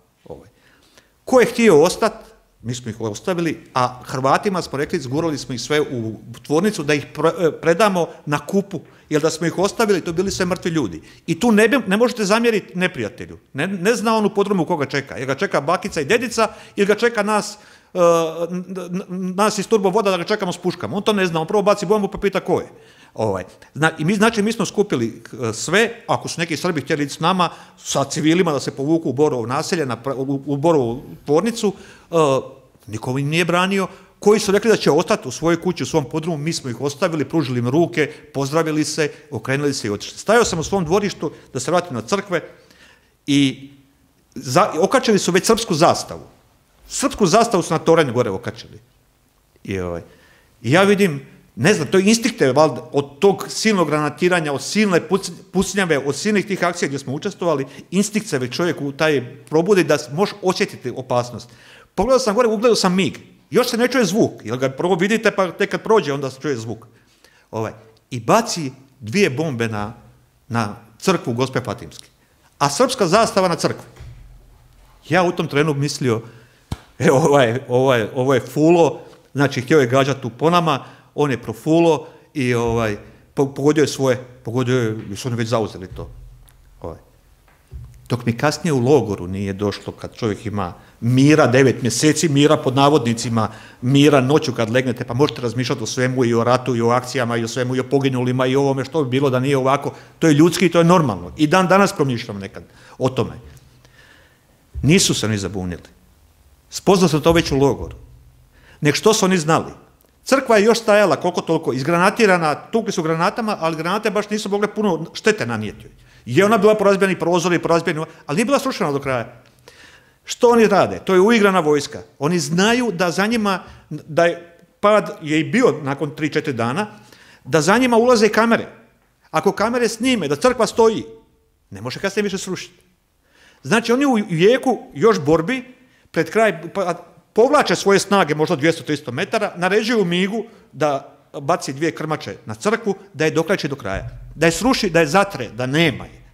Ko je htio ostati, mi smo ih ostavili, a Hrvatima smo rekli, zgurali smo ih sve u tvornicu da ih predamo na kupu, jer da smo ih ostavili, to bili sve mrtvi ljudi. I tu ne možete zamjeriti neprijatelju. Ne zna on u podrumu koga čeka. Jer ga čeka bakica i dedica, ili ga čeka nas iz turbovoda da ga čekamo s puškama. On to ne zna, on prvo baci bombu pa pita ko je. Znači, mi smo skupili sve, ako su neki Srbi htjeli ići s nama, sa civilima da se povuku u Borovo naselje, u Borovu tvornicu, niko im nije branio, koji su rekli da će ostati u svojoj kući, u svom podrumu, mi smo ih ostavili, pružili im ruke, pozdravili se, okrenuli se i otišli. Stajao sam u svom dvorištu da se vratim na crkve i okačili su već srpsku zastavu. Srpsku zastavu su na toranju gore okačili. I ja vidim, ne znam, to je instinkte valjda, od tog silnog granatiranja, od silne pucnjave, od silnih tih akcija gdje smo učestvovali, instinkt se već čovjek u taj probudi da može osjetiti opasnost. Pogledao sam gore, ugledao sam mig. Još se ne čuje zvuk, jer ga prvo vidite pa tek kad prođe onda se čuje zvuk. I baci 2 bombe na crkvu Gospe Fatimske. A srpska zastava na crkvu. Ja u tom trenu mislio, ovo je fulo, znači htio je gađati tu po nama, on je profulo i pogodio je svoje, jer su oni već zauzeli to. Dok mi kasnije u logoru nije došlo, kad čovjek ima mira, 9 mjeseci mira pod navodnicima, mira noću kad legnete, pa možete razmišljati o svemu i o ratu i o akcijama i o svemu i o poginulima i o ovome što bi bilo da nije ovako. To je ljudski i to je normalno. I dan danas promišljam nekad o tome. Nisu se oni zabunili. Spoznao sam to već u logoru. Nek što su oni znali. Crkva je još stajala koliko toliko izgranatirana, tukli su granatama, ali granate baš nisu mogle puno štete nanijeti. Je ona bila porazbijeni prozori, ali nije bila srušena do kraja. Što oni rade? To je uigrana vojska. Oni znaju da za njima, da je pad je i bio nakon 3-4 dana, da za njima ulaze i kamere. Ako kamere snime da crkva stoji, ne može kasnije više srušiti. Znači oni u jeku još borbi, pred kraj povlače svoje snage, možda 200-300 metara, naređuju migu da baci 2 krmače na crkvu, da je dokleči do kraja. Da je sruši, da je zatre, da nema je.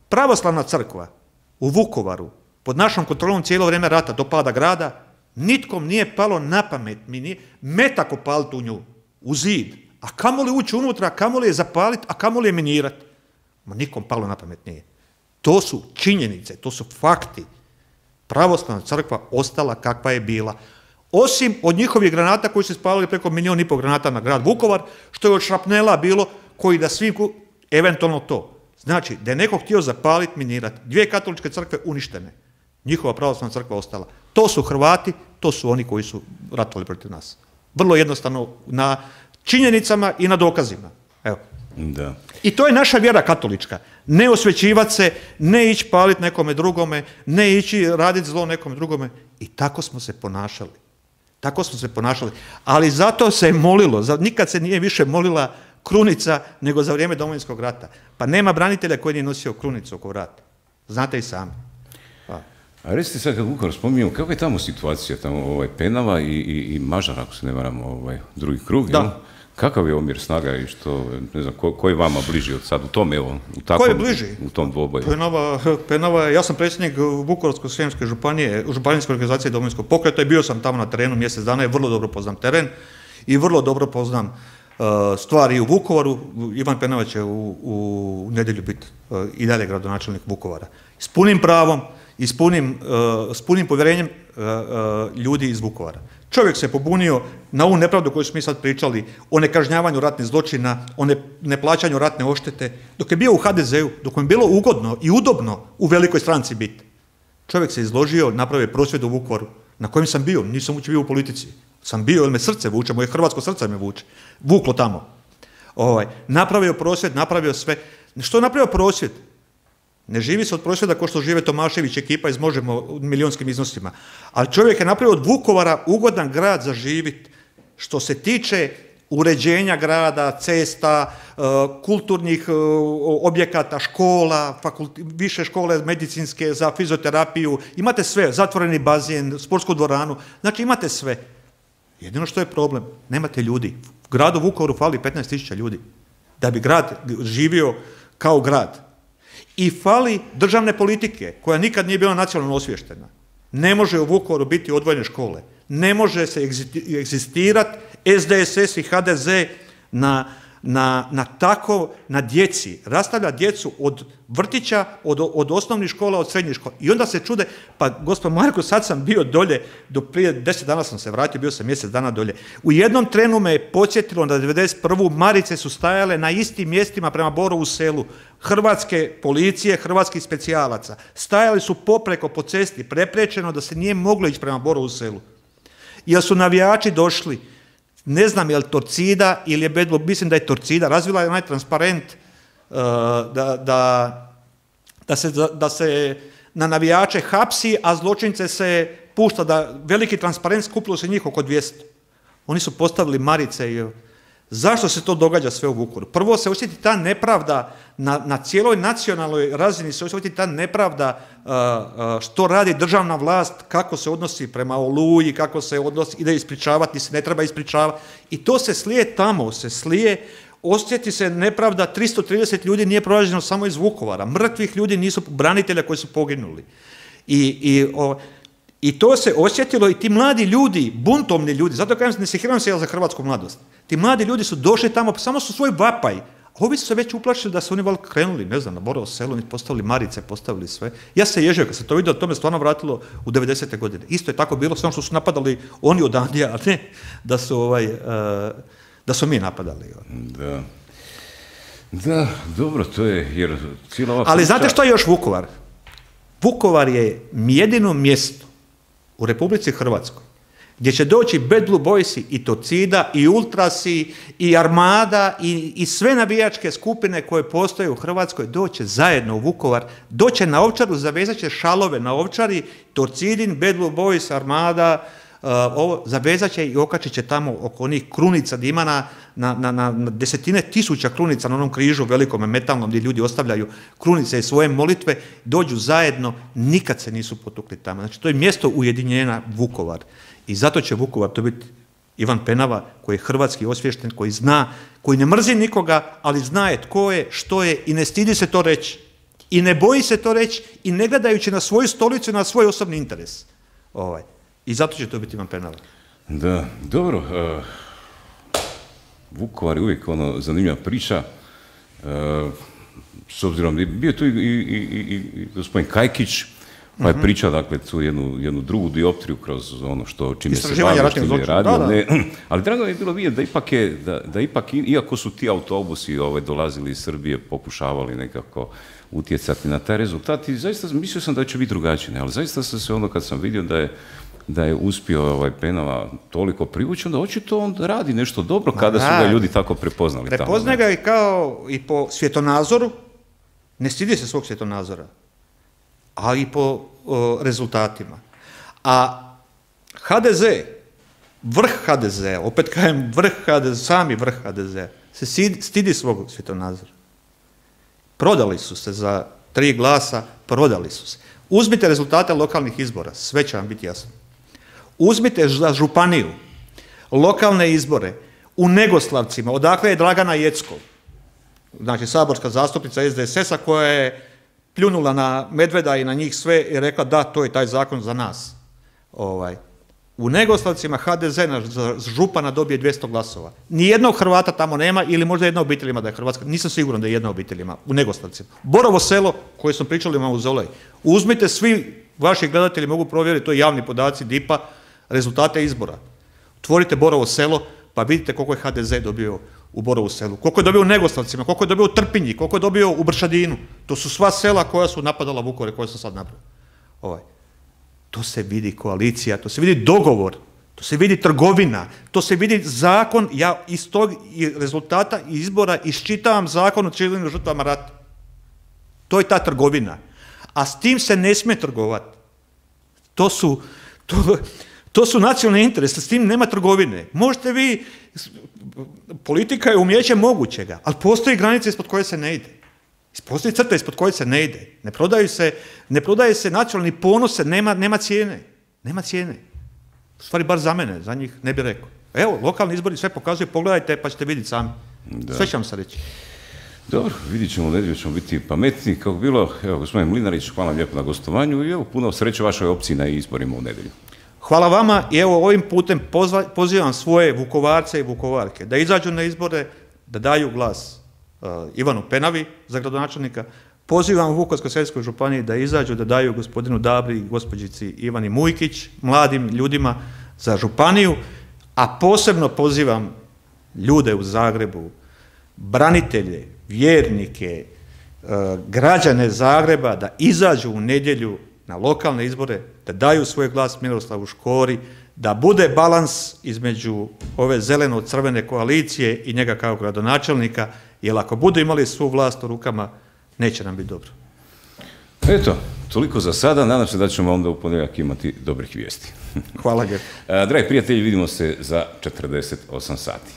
Pravoslavna crkva u Vukovaru, pod našom kontrolom cijelo vrijeme rata do pada grada, nitkom nije palo na pamet, mi nije metak opaliti u nju, u zid, a kamoli ući unutra, kamoli je zapaliti, a kamoli je minirati. Ma nikom palo na pamet nije. To su činjenice, to su fakti. Pravoslavna crkva ostala kakva je bila. Osim od njihovih granata koji su spalili preko 1,5 milijuna granata na grad Vukovar, što je od šrapnela bilo, koji da svi, eventualno to. Znači, da je neko htio zapaliti, minirati. 2 katoličke crkve uništene. Njihova pravoslavna crkva ostala. To su Hrvati, to su oni koji su ratovali protiv nas. Vrlo jednostavno na činjenicama i na dokazima. Evo. Da. I to je naša vjera katolička. Ne osvećivati se, ne ići paliti nekome drugome, ne ići raditi zlo nekome drugome. I tako smo se ponašali. Tako smo se ponašali. Ali zato se je molilo, nikad se nije više molila krunica nego za vrijeme Domovinskog rata. Pa nema branitelja koji nije nosio krunicu oko vrata. Znate i sami. A recite sad kad Vukovar spominjemo, kako je tamo situacija, tamo Penava i Mažar, ako se ne varam, drugi krug, da. Jel? Kakav je omjer snaga i što, ne znam, ko je vama bliži od sad u tom, evo, ko je bliži? U tom dvoboju? Penava, ja sam predsjednik Vukovarsko-srijemske županije, županijske organizacije Domovinskog pokreta i bio sam tamo na terenu mjesec dana i vrlo dobro poznam teren i vrlo dobro poznam stvari u Vukovaru. Ivan Penava će u nedjelju biti i dalje gradonačelnik Vukovara. S punim pravom i s punim povjerenjem ljudi iz Vukovara. Čovjek se pobunio na ovu nepravdu koju smo mi sad pričali, o nekažnjavanju ratnih zločina, o neplaćanju ratne odštete, dok je bio u HDZ-u, dok mu je bilo ugodno i udobno u velikoj stranci biti. Čovjek se izložio, napravio prosvjed u Vukovaru, na kojem sam bio, nisam uopće bio u politici. Sam bio, jer me srce vuče, moje hrvatsko srce me vuče. Vuklo tamo. Napravio prosvjed, napravio sve. Što je napravio prosvjed? Ne živi se od prosvjeda kao što žive Tomašević ekipa iz Možemo u milionskim iznosima. Ali čovjek je napravio od Vukovara ugodan grad za živit. Što se tiče uređenja grada, cesta, kulturnih objekata, škola, više škole medicinske za fizioterapiju, imate sve, zatvoreni bazen, sportsku dvoranu, znači imate sve. Jedino što je problem, nemate ljudi. Gradu Vukovaru fali 15.000 ljudi da bi grad živio kao grad. I fali državne politike koja nikad nije bila nacionalno osviještena. Ne može u Vukovaru biti odvojene škole. Ne može se egzistirati SDSS i HDZ na djeci. Rastavlja djecu od vrtića, od osnovnih škola, od srednjih škola. I onda se čude, pa gospod Marko, sad sam bio dolje, do prije 10 dana sam se vratio, bio sam mjesec dana dolje. U jednom trenu me je podsjetilo na 91. Marice su stajale na istim mjestima prema Borovu Selu. Hrvatske policije, hrvatskih specijalaca. Stajali su popreko po cesti, preprečeno da se nije moglo ići prema Borovu Selu. Jer su navijači došli, ne znam je li Torcida ili je Bedlo, mislim da je Torcida, razvila je onaj transparent da se na navijače hapsi, a zločince se pušta, da veliki transparent, skupilo se njih oko 200. Oni su postavili marice i zašto se to događa sve u Vukovaru? Prvo se osjeti ta nepravda, na cijeloj nacionalnoj razini se osjeti ta nepravda što radi državna vlast, kako se odnosi prema Oluji, kako se odnosi, ide ispričavati, se ne treba ispričavati. I to se slije tamo, osjeti se nepravda, 330 ljudi nije pronađeno samo iz Vukovara, mrtvih ljudi nisu branitelja koji su poginuli. I to se osjetilo i ti mladi ljudi, buntovni ljudi, zato kažem, ne sekiram se ja za hrvatsku mladost. Ti mladi ljudi su došli tamo, samo su svoj vapaj. Ovi su se već uplašili da su oni valjda krenuli, ne znam, na Borovo Selo, postavili marice, postavili sve. Ja se ježio kad sam to vidio, to me stvarno vratilo u 90. godine. Isto je tako bilo, samo što su napadali oni od Andija, a ne da su mi napadali. Da, dobro, to je, jer cijela ova ali znate što je još Vukovar? Vukovar je jedino mjesto u Republici Hrvatskoj gdje će doći Bad Blue Boysi i Torcida i Ultrasi i Armada i sve navijačke skupine koje postoje u Hrvatskoj doće zajedno u Vukovar, doće na Ovčaru, zavezat će šalove na Ovčari, Torcidin, Bad Blue Boys, Armada, zavezat će i okačit će tamo oko onih krunica gdje ima na desetine tisuća krunica na onom križu velikome metalnom gdje ljudi ostavljaju krunice i svoje molitve, dođu zajedno, nikad se nisu potukli tamo. Znači to je mjesto ujedinjenja Vukovar. I zato će Vukovar to biti Ivan Penava koji je hrvatski osviješten, koji zna, koji ne mrzi nikoga, ali zna je tko je, što je i ne stidi se to reći. I ne boji se to reći i ne gledajući na svoju stolicu i na svoj osobni interes. I zato će to biti Ivan Penava. Da, dobro. Vukovar je uvijek zanimljiva priča. S obzirom da je bio tu i gospodin Kajkić, pa je pričao, dakle, tu jednu drugu dioptriju kroz ono čime se bavio, što je radio. Ali drago je bilo vidjeti da ipak, iako su ti autobusi dolazili iz Srbije, pokušavali nekako utjecati na taj rezultat i zaista mislio sam da će biti drugačije, ali zaista sam se kad sam vidio da je uspio Penava toliko privući, onda očito on radi nešto dobro kada su ga ljudi tako prepoznali. Prepoznaje ga i kao i po svjetonazoru, ne stidi se svog svjetonazora, ali i po rezultatima. A HDZ, vrh HDZ-a, opet kažem sami vrh HDZ-a, se stidi svog svjetonazora. Prodali su se za 3 glasa, prodali su se. Uzmite rezultate lokalnih izbora, sve će vam biti jasno. Uzmite za županiju lokalne izbore u Negoslavcima, odakle je Dragana Jeckov, znači saborska zastupnica SDSS-a koja je pljunula na Medveda i na njih sve i rekla da, to je taj zakon za nas. U Negoslavcima HDZ za župana dobije 200 glasova. Nijednog Hrvata tamo nema ili možda jedna obitelj ima da je Hrvatska. Nisam siguran da je jedna obitelj ima u Negoslavcima. Borovo Selo, koje smo pričali u Mauzolej. Uzmite, svi vaši gledatelji mogu provjeriti, to je javni podaci DIP-a, rezultate izbora. Otvorite Borovo Selo pa vidite koliko je HDZ dobio u Borovu Selu. Koliko je dobio u Negoslavcima, koliko je dobio u Trpinji, koliko je dobio u Bršadinu. To su sva sela koja su napadala Vukovar, koje sam sad napravio. To se vidi koalicija, to se vidi dogovor, to se vidi trgovina, to se vidi zakon. Ja iz tog rezultata izbora iščitavam zakon o civilnim žrtvama rata. To je ta trgovina. A s tim se ne smije trgovati. To su nacionalni interesi, s tim nema trgovine. Možete vi, politika je umijeće mogućega, ali postoji granica ispod koje se ne ide. Postoji crta ispod koje se ne ide. Ne prodaje se nacionalni ponose, nema cijene. Nema cijene. U stvari, bar za mene, za njih ne bih rekao. Evo, lokalni izbori sve pokazuju, pogledajte pa ćete vidjeti sami. Sve će vam se reći. Dobro, vidit ćemo, u nedjelju ćemo biti pametni. Kako bilo, evo, gospodin Mlinarić, hvala vam lijepo na gostovanju i evo, puno sreće vašoj opciji na izborima u nedjelju. Hvala vama i evo ovim putem pozivam svoje Vukovarce i Vukovarke da izađu na izbore, da daju glas Ivanu Penavi za gradonačelnika. Pozivam u Vukovarsko-srijemskoj županiji da izađu, da daju gospodinu Dabri i gospođici Ivani Mujkić, mladim ljudima za županiju, a posebno pozivam ljude u Zagrebu, branitelje, vjernike, građane Zagreba da izađu u nedjelju na lokalne izbore, da daju svoj glas Miroslavu Škori, da bude balans između ove zeleno-crvene koalicije i njega kao gradonačelnika, jer ako budu imali svu vlast u rukama, neće nam biti dobro. Eto, toliko za sada. Nadam se da ćemo onda u ponedjeljak imati dobrih vijesti. Hvala lijepo. Dragi prijatelji, vidimo se za 48 sati.